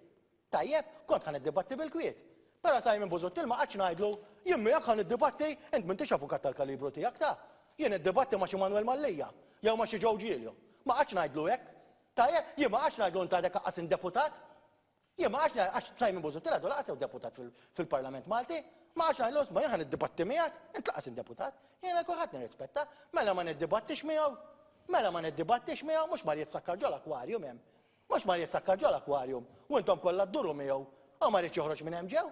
Tajjeb, kont ħa niddibatti bil-kwiet. Però Simon Busuttil ma qgħadx ngħidlu, jien miegħek ħa niddibatti, int m'intix avukat tal-kalibru tiegħek ta'. Jien niddibatti ma' xi Manuel Mallia, jew ma' xi Joe Giglio. Ma qgħadx ngħidlu hekk. Tajjeb, jien ma qgħadx ngħidlu int għadek aqqas deputat. Jien ma qgħadx ngħid għax Simon Busuttil għadu lanqas hu deputat fil-Parlament Malti. Ma qgħadx ngħidlu isma' jien ħa niddibatti miegħek, int lanqas deputat. Jiena kulħadd nirrispetta, mela ma niddibattix miegħu. Mela ma niddibattix miegħu mhux mar jitsakkar ġol-akwarjum hemm. Mhux mar jissakkar ġol-aquarium u intom kollha dduru miegħu u ma riedx joħroġ minn hemm ġew.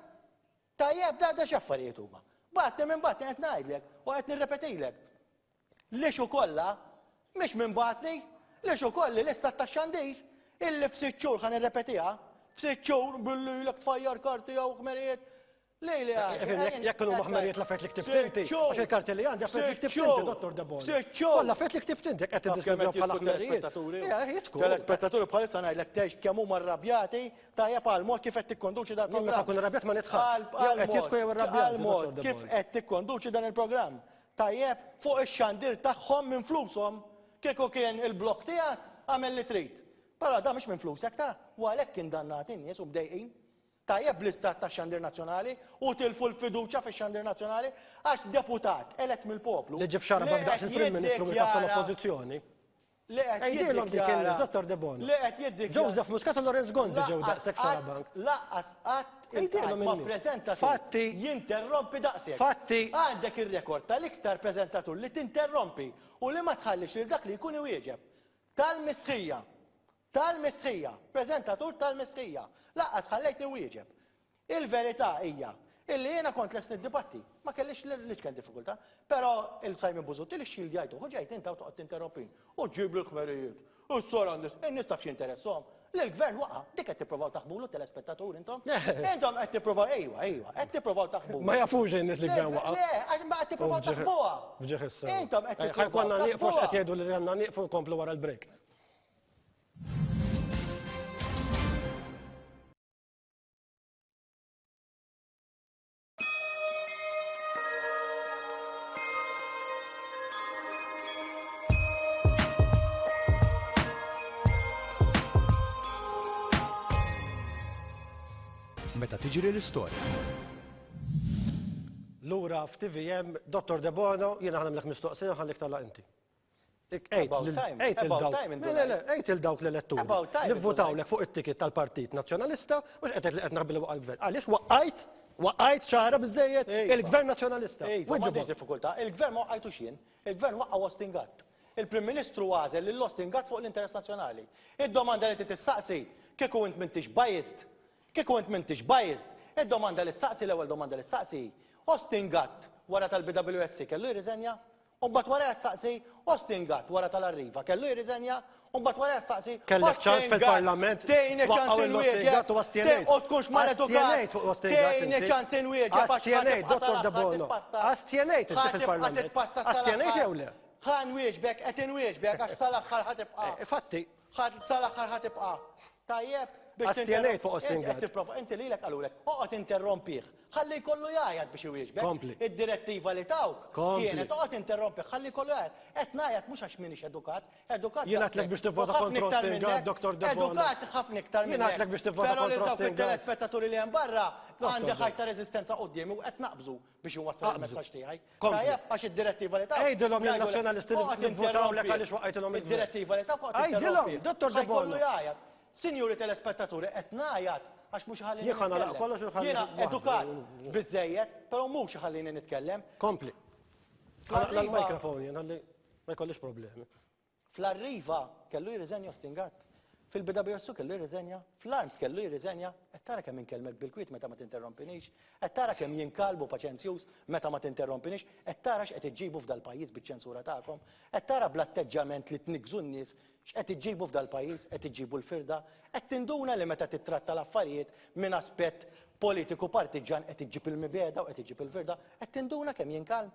Tajjeb, da da x'affarijiet huma. Bagħatni minn bagħatni qed ngħidlek u qed nirrepetilek. L-issue kollha mhix minn bagħatni, l-issue kolli l-istat tax-xandir illi f'sitt xhur ħa nirrepetiha, f'sitt xhur billi ilek tfajjar karti hawn ħmerijiet, Lejli għandi. Jekk kienu maħmerijiet l-affarijiet li ktibt inti, għax il-karti li għandi affarijiet li ktibt inti, Dottor Debono. Sitt xhur. Kollha affarijiet li ktibt inti, qed tiddiskrivihom bħala ħmerijiet. Jitku. Telespettaturi bħalissa ngħidlek tgħix kemm huma rrabjati tajjeb għal mod kif qed tikkonduċi dan il-programm. Meta nkun irrabjat ma nidħakx. Jew qed jidħku jew irrabjati. Għal mod kif qed tikkonduċi dan il-programm. Tajjeb fuq ix-xandir tagħhom minn flushom kieku kien il-blog tiegħek agħmel li trid. Però dan mhux minn flusek ta' u għalhekk indannati n-nies u mdejqin. Tajjeb bl-istat tax-xandir nazzjonali u tilfu l-fiduċja fix-xandir nazzjonali għax deputat elett mill-poplu. Li ġie f'xarabak daqs il-Prim Ministru mill-kap tal-Oppożizzjoni. Li qed Għidilhom dik in-nies, Dottor Debono. Li qed jiddikjara. Joseph Muscat u Lawrence Gonzi ġew daqshekk f'xarabank. Lanqas qatt iltqajt ma' preżentatur Fatti. jinterrompi daqshekk. Fatti. Għandek ir-rekord tal-iktar preżentatur li tinterrompi u li ma tħallix lil dak li jkun iwieġeb. Tal-mistħija. Tal-mistħija! Preżentatur tal-mistħija! Lanqas ħallejtni nwieġeb. Il-verità hija illi jiena kont lest niddibatti, ma kellix l-iċken diffikultà, però il-Simon Busuttil ixxildjajtuh u ġejt int hawn toqgħod tinterrompini u ġġibli l-ħmerijiet, u s-sor għandis, in-nies taf x'jinteressahom? Li l-Gvern waqa', dik qed tipprovaw taħbulu t-telespettaturi intom? Intom qed tipprovaw, ejwa, ejwa, qed tipprovaw taħbulu. Ma jafux in-nies li l-Gvern waqa'. Le, għax ma qed tipprovaw taħbuha. F'ġieħ is-sewwa. Intom qed tipprovaw Ħa jkollna nieqfu għax taħbuha. qed jgħidu li għandna nieqfu nkomplu wara l-break. Meta tiġri l-istorja. Lura f'TVM, Dottor Debono, jiena ħa nagħmlek mistoqsija u ħallik tagħlaq inti. Għid lil dawk l-eletturi li vvotawlek fuq it-ticket tal-Partit Nazzjonalista mhux qed tgħid li qed naħbi li waqa' l-gvern. Għaliex waqqajt, waqqajt ċara biżżejjed il-Gvern Nazzjonalista. M'għandix diffikultà, il-Gvern ma waqqajtux jien, il-Gvern waqqa' Austin Gatt. Il-Prim Ministru għażel lil Austin Gatt fuq l-interess nazzjonali. Id-domanda li trid tistaqsi, kieku int m'intix biased, kieku int m'intix biased, id-domanda li ssaqsi, l-ewwel domanda li ssaqsi hi, Austin Gatt wara tal-BWSC kellu jirriżenja? U mbagħad warajha tsaqsi, Austin Gatt wara tal-Arriva kellu jirriżenja? U mbagħad warajha tsaqsi, Kellek ċans Austin Gatt, fil-Parlament tgħinni ċans twaqqgħu lil Austin inwieġeb, Gatt u astjenejt. u tkunx maledukat, Astjenejt fuq Austin Gatt tgħinni inti. ċans inwieġeb għax ħa Astjenejt, tibqa' Dottor sal-aħħar Debono. titpasta. Astjenejt inti Ħa tibqa' fil-Parlament. titpasta sal-aħħar. Astjenejt jew le? Ħa nwieġbek, qed inwieġbek għax sal-aħħar ħa tibqa'. Fatti. Ħa sal-aħħar ħa tibqa'. Tajjeb biex Astjenejt fuq Austin Inti qed Gatt. tipprova, inti lilek qalulek, oqgħod interrompih. Ħalli jkollu jgħajjat biex iwieġbek. Kompli. Id-direttiva li tawk Kompli. kienet oqgħod interrompih, ħalli jkollu jgħajjat. Qed ngħajjat mhux għax m'iniex edukat, edukat Jien għedtlek daqshekk. biex tivvota U ħafna kontra iktar Austin minnek, Gatt, Dr. Debono. Edukat ħafna iktar Jien minnek. għedtlek biex tivvota Però lil kontra dawk Austin Gatt. it-telespettaturi li hemm barra Dr. għandi Debono. ħajt ta' reżistenza quddiemi u qed naqbżu biex inwassal Aqbżu. il-messaġġ tiegħi. Kompli. Tajjeb għax id-direttiva li tawk. Għidilhom jgħidulek, lin-Nazzjonalisti li oqgħod vvotawlek interrompih. għaliex waqqajtilhom il-gvern. Id-direttiva li tawk oqgħod Għidilhom, interrompih. Dr. Ħa jkollu Debono. jgħajjat. Sinjuri telespettaturi, qed ngħajjat għax mhux iħallini Jien ħa nagħlaq nitkellem. kollox u nħalli Jiena waħdu. edukat biżżejjed, però mhux iħallini nitkellem. Kompli. Fl-Arriva- L-mikrofon jien ħalli ma jkollix problemi. Fl-Arriva kellu jirriżenja Austin Gatt. Fil-BWSU kellu jirriżenja, fl-Arms kellu jirriżenja, qed tara kemm inkellmek bil-kwiet meta ma tinterrompinix, qed tara kemm jien kalm u paċenzjuż meta ma tinterrompinix, qed tara x'qed iġġibu f'dal-pajjiż biċ-ċensura tagħkom, qed tara bl-atteġġjament li tniggżu n-nies X'qed iġġibu f'dal-pajjiż? Qed iġġibu l-firda? Qed tinduna li meta tittratta l-affarijiet minn aspett politiku partiġġan qed iġġib il-mibegħda u qed iġġib il-firda? Qed tinduna kemm jien kalm?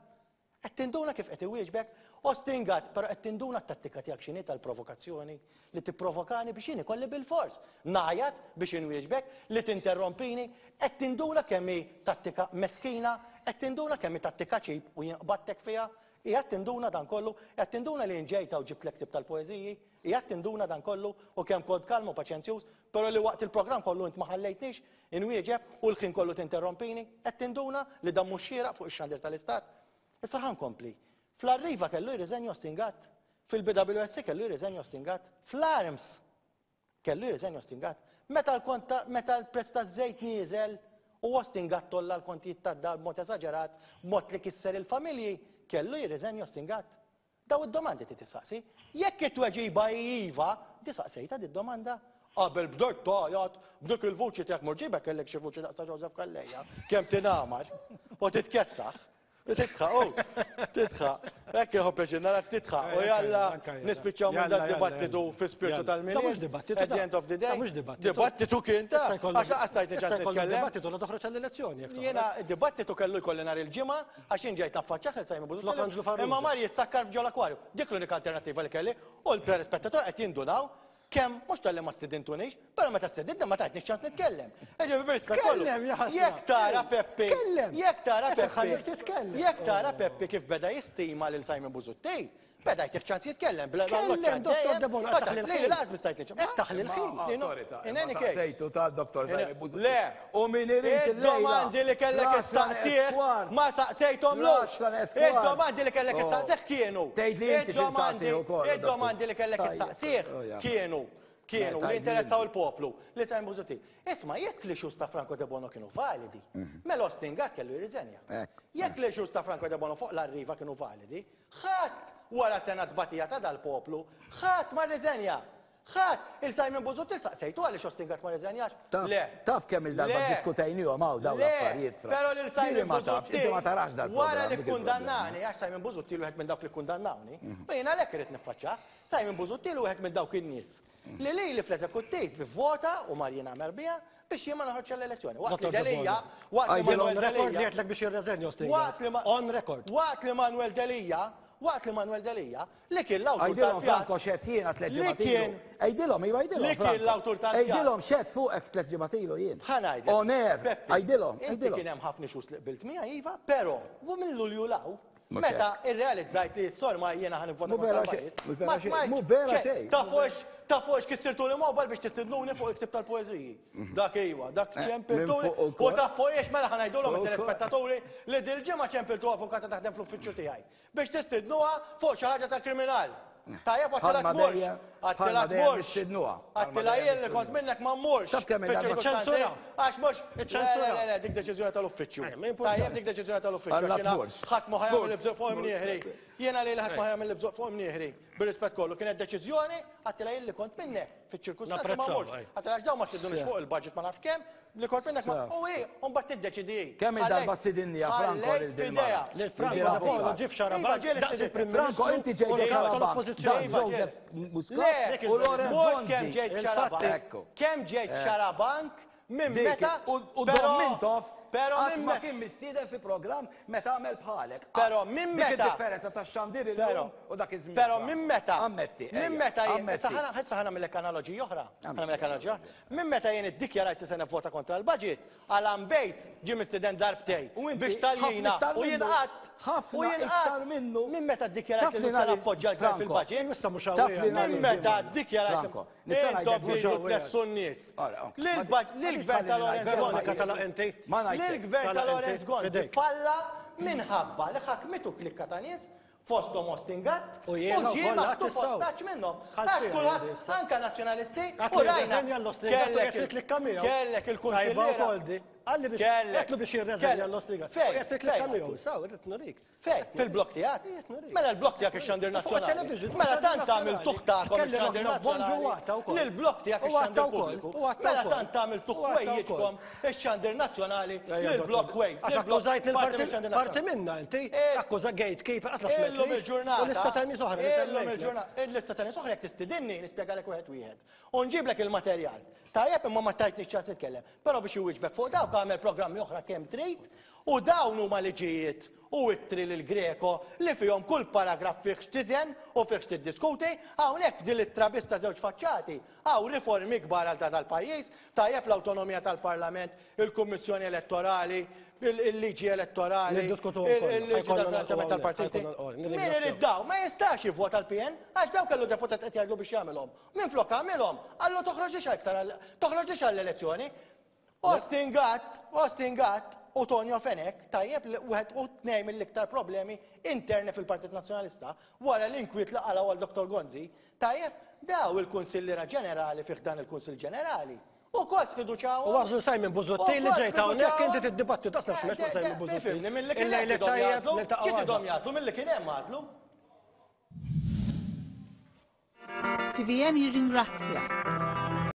Qed tinduna kif qed iwieġbek? Ostingat, però qed tinduna t-tattika tiegħek x'inhi tal-provokazzjoni? Li tipprovokani biex jien ikolli bilfors ngħajjat biex inwieġbek, li tinterrompini? Qed tinduna kemm hi tattika meskina? Qed tinduna kemm hi tattika cheap u jien qbadtek fiha? Qiegħed tinduna dan kollu? Qiegħed tinduna li jien ġejt hawn ġibtlek ktieb tal-poeżiji? Qiegħed tinduna dan kollu? U kemm kont kalm u paċenzjuż, però li waqt il-programm kollu int ma ħallejtnix inwieġeb u l-ħin kollu tinterrompini? Qed tinduna li dan mhux xieraq fuq ix-xandir tal-Istat? Issa ħa nkompli. Fl-Arriva kellu jirriżenja Austin Gatt. Fil-BWSC kellu jirriżenja Austin Gatt. Fl-Arms! Kellu jirriżenja Austin Gatt. Meta l-kont ta' meta l-prezz taż-żejt nieżel u Austin Gatt għolla l-kontijiet tad-dar b'mod esaġerat, b'mod li kisser il-familji, kellu jirriżenja Austin Gatt? Dawn id-domandi trid tistaqsi. Jekk it-tweġiba hi iva, di saqsejtha di d-domanda? Qabel bdejt tgħajjat b'dik il-vuċi tiegħek mur ġibek kellek xi vuċi daqs ta' Joseph Calleja, kemm tingħamar u titkessaħ. Titħaq, u, titħaq. Hekk inħobb pjaċir narak titħaq. U jalla nispiċċaw minn dan dibattitu fi spirtu tal-Milied. Da mhux dibattitu. At the end of the day. Da mhux dibattitu. Dibattitu kien ta' għax lanqas tajtni ċans nitkellem. Dibattitu la toħroġ għall-elezzjoni. Jiena dibattitu kellu jkolli nhar il-Ġimgħa għax jien ġejt naffaċċjah lil Simon Busuttil. Imma mar jissakkar f'ġol-akwarju. Dik l-unika alternattiva li kelli u l-telespettatur qed jindunaw Kemm, mhux talli ma stidintunix, però meta stedintni ma tajtnix ċans nitkellem. Jiġifieri bir-rispett kollu. Tkellem, ja ħasra. Jekk tara Peppi. Tkellem. Jekk tara Qed Peppi. inħallik titkellem. Jekk tara Peppi kif beda jistima lil Simon Busuttil, beda jtih ċans jitkellem. Bla Tkellem, Dottor Debono, qed taħli l-ħin. Lili lanqas biss tajtni ċans. Qed taħli l-ħin. In any case. Sejtu ta' Dottor Simon Busuttil. Le. U min irid illejla. Id-domandi li kellek issaqsih ma saqsejthomlux. Id-domandi li kellek issaqsih kienu. Tgħidli inti xi nsaqsih ukoll. Id-domandi li kellek issaqsih kienu kienu li jinteressaw il-poplu li Simon Busuttil. Isma' jekk l-issues ta' Franco Debono kienu validi, mela Austin Gatt kellu jirriżenja. Jekk l-issues ta' Franco Debono fuq l-Arriva kienu validi, ħadd wara sena tbatija ta' dal-poplu, ħadd ma rriżenja. Ħadd! Il Simon Busuttil saqsejtu għaliex Austin Gatt ma rriżenjax? Le. Taf kemm il-darba ddiskutejnihom hawn dawn l-affarijiet. Le, però lil Simon Busuttil wara li kkundannani, għax Simon Busuttil wieħed minn dawk li kkundannawni, u jien għalhekk irrid niffaċċjah, Simon Busuttil wieħed minn dawk in-nies li lili fl-eżekuttiv ivvota u mar jingħamer biha biex jien ma noħroġx għall-elezzjoni. Waqt li Delia, waqt li Manuel On record li Delia, għedtlek biex jirreżenja Austin Gatt. waqt li ma- On record. Waqt li Manuel Delia, waqt li Manuel Delia, Li kien l-awtur Għidilhom tal-pjan. Franco x'għedt jiena tlett Li ġimgħat ilu. kien. Għidilhom, iva għidilhom. Li kien l-awtur tal-pjan. Għidilhom x'għedt fuqek tlett ġimgħat ilu jien. Ħa ngħidlek. On air. Peppi, Għidilhom, Inti għidilhom. kien hemm ħafna issues li qbilt miegħi iva, però u minn Lulju 'l hawn, Mhux meta hekk. irrealizzajt li s-sorma jiena ħa nivvota Mhu vera kontra xejn, l-budget, mhux vera ma xejn, smajtx mhu vera xejn. xejn. Taf fuq taf fuq x'kissirtuli mobile biex tistidnuni fuq il-ktieb tal-poeżiji. Dak iva, dak Eh, ċempiltuli. minn fuq U ukoll. taf fuq iex mela ħa ngħidulhom Fuq ukoll. it-telespettaturi li dil-ġimgħa ċempiltu avukata taħdem fl-uffiċċju tiegħi. Biex tistidnuha fuq xi ħaġa ta' kriminal. Tajjeb għattila Bħalma tmurx. dejjem- Għattila bħalma dejjem tmurx. nistidnuha. Bħalma Għattila dejjem jien li kont nistidnuha. minnek ma mmurx. Taf kemm il-darba Fiċ-ċirkustanzi, ċensura. Għax mhux. Iċ-ċensura. Le, le, le, dik deċiżjoni tal-uffiċċju. Eh, ma jimpurtax. Tajjeb dik deċiżjoni tal-uffiċċju. Alla għax jiena tmurx. Ħadd ma ħa jagħmel Tmurx. ibżuq fuq imnieħri. Jiena li ħadd ma ħa jagħmel ibżuq fuq imnieħri. Bir-rispett kollu kienet deċiżjoni għattila jien li kont minnek fiċ-ċirkustanzi ma Napprezzaw, mmurx. ej. Għattila għax dawn ma stidnunix fuq il-budget ma nafx kemm, li kont minnek ma. U hi, u mbagħad tiddeċidi hi. Kemm il-darba stidinni ja Franco Ħallejt lil din f'idejha. mara? Lil Franco Lil da Bono avukat. ġib xarabank Iva, ġieli daqs il-Prim Franco, Ministru inti ġejt u l-kap xarabank. tal-Oppożizzjoni. Daqs Joseph Muscat Le, u Lawrence mhux Gonzi. kemm ġejt Il-fatti- xarabank. Ekku. Kemm ġejt xarabank minn Dik, meta. U u però- Dom Mintoff Però qatt minn ma meta. kien mistieden fi programm meta għamel bħalek. Però minn Dik meta- id-differenza tax-xandir Però illum u dak iż-żmien. Però Franco. minn meta. Ammetti. Minn ejja, meta jien. ammetti. Issa ħana issa ħa nagħmellek analoġija oħra. Ħa Ammetti. nagħmellek analoġija oħra. Minn meta jien iddikjarajt li se nivvota kontra l-budget, Alan Bates ġie mistieden darbtejn U inti biex ħafna taljina iktar u jien minnu. qatt. Ħafna U jien iktar qatt. minnu. Minn meta ddikjarajt Taf li li se nhar il- nappoġġja l-gvern Franco. fil-budget. Issa mhux Taf hawn li nhar Minn il-ġimgħa. meta ddikjarajt Franco, nista' intom ngħidlek mhux tridu hawn tlessu n-nies. Ora, ok. Lill-gvern ta' Lawrence Veronika Gonzi. tala inti. Ma ngħidlek. Lill-gvern ta' Tala inti. Lawrence Gonzi Fidejk. falla minħabba li ħakmitu klikka ta' nies fosthom Austin Gatt U jiena u ġie wkoll maħtuf għad issaw. ostaġġ minnhom. Ħadd Għax fiha kulħadd jgħid issa. anke nazzjonalisti Għad u li rajna jirreżenja l-Austin Gatt u kellek jgħid fil-klikka miegħu. Kellek Tajba il-kunsilliera. wkoll di. Qalli biex Kellek. għedtlu biex jirreżenja Kellek. l-Austin Gatt. Fejn? U jgħid fil-klikka Fejn miegħu. għadtu? Saw, qed nurik. Fejn? Fil-blok tiegħek? Qed nurik. Mela l-blok tiegħek ix-xandir Fuq nazzjonali. it-television, fuq Mela ix-xandir tant tagħmel nazzjonali. tuħ tagħkom Kelli ix-xandir Roħna Bonġu nazzjonali. għatta wkoll. Lill-blok tiegħek U għatta ix-xandir wkoll, pubbliku. u għatta Mela wkoll. tant tagħmel tuħ U għatta wkoll. ħwejjiġkom ix-xandir nazzjonali Ejja, lill-blok dottor. ħwej. Għax lill-blok akkużajt lil parti parti mix-xandir parti nazzjonali. minna inti, Eh, akkuża gatekeeper, qas la Illum smetli. il-ġurnata. U lista ta' nies oħra li Illum semmejtlek. il-ġurnata. Il-lista ta' nies oħra jekk tistidinni nispjegalek wieħed wieħed. U nġiblek il-materjal. Tajjeb imma ma tajtniex ċans nitkellem. Però biex iwieġbek fuq dawk għamel programmi oħra kemm trid u dawn huma liġijiet u ittri lil Greco li fihom kull paragraf fih x'tiżen u fih x'tiddiskuti, hawnhekk f'din l-ittra biss ta' żewġ faċċati hawn riformi kbar għal ta' dal-pajjiż, tajjeb l-awtonomija tal-Parlament, il-Kummissjoni Elettorali, il-liġi elettorali, Niddiskutuhom kollha. il-liġi Ħajkollna tal-finanzjament niltaqgħu tal-partiti. hawnhekk, ħajkollna niltaqgħu, Min nirringrazzjaw. irid daw, ma jistax jivvota l-PN, għax daw kellu deputat qed jgħidlu biex jagħmilhom. Minflok għamilhom, qallu toħroġlix aktar għal- toħroġlix għall-elezzjoni. Austin Gatt, Austin Gatt u Tonio Fenech, tajjeb li wieħed u tnejn mill-iktar problemi interni fil-Partit Nazzjonalista, wara l-inkwiet li qalgħu għal Dottor Gonzi, tajjeb, daw il-Kunsilliera Ġenerali fih dan il-Kunsill Ġenerali. U kol sfiduċawhom. U għażlu Simon Busuttil li ġejt hawnhekk inti tiddibattu tasna x'mett ma' Simon Busuttil. Ifhimni, milli kien hemm Il-lejl tidhom it-tajjeb jagħżlu, niltaqgħu xi għada. tidhom jagħżlu milli kien hemm għażlu. TVM jirringrazzja.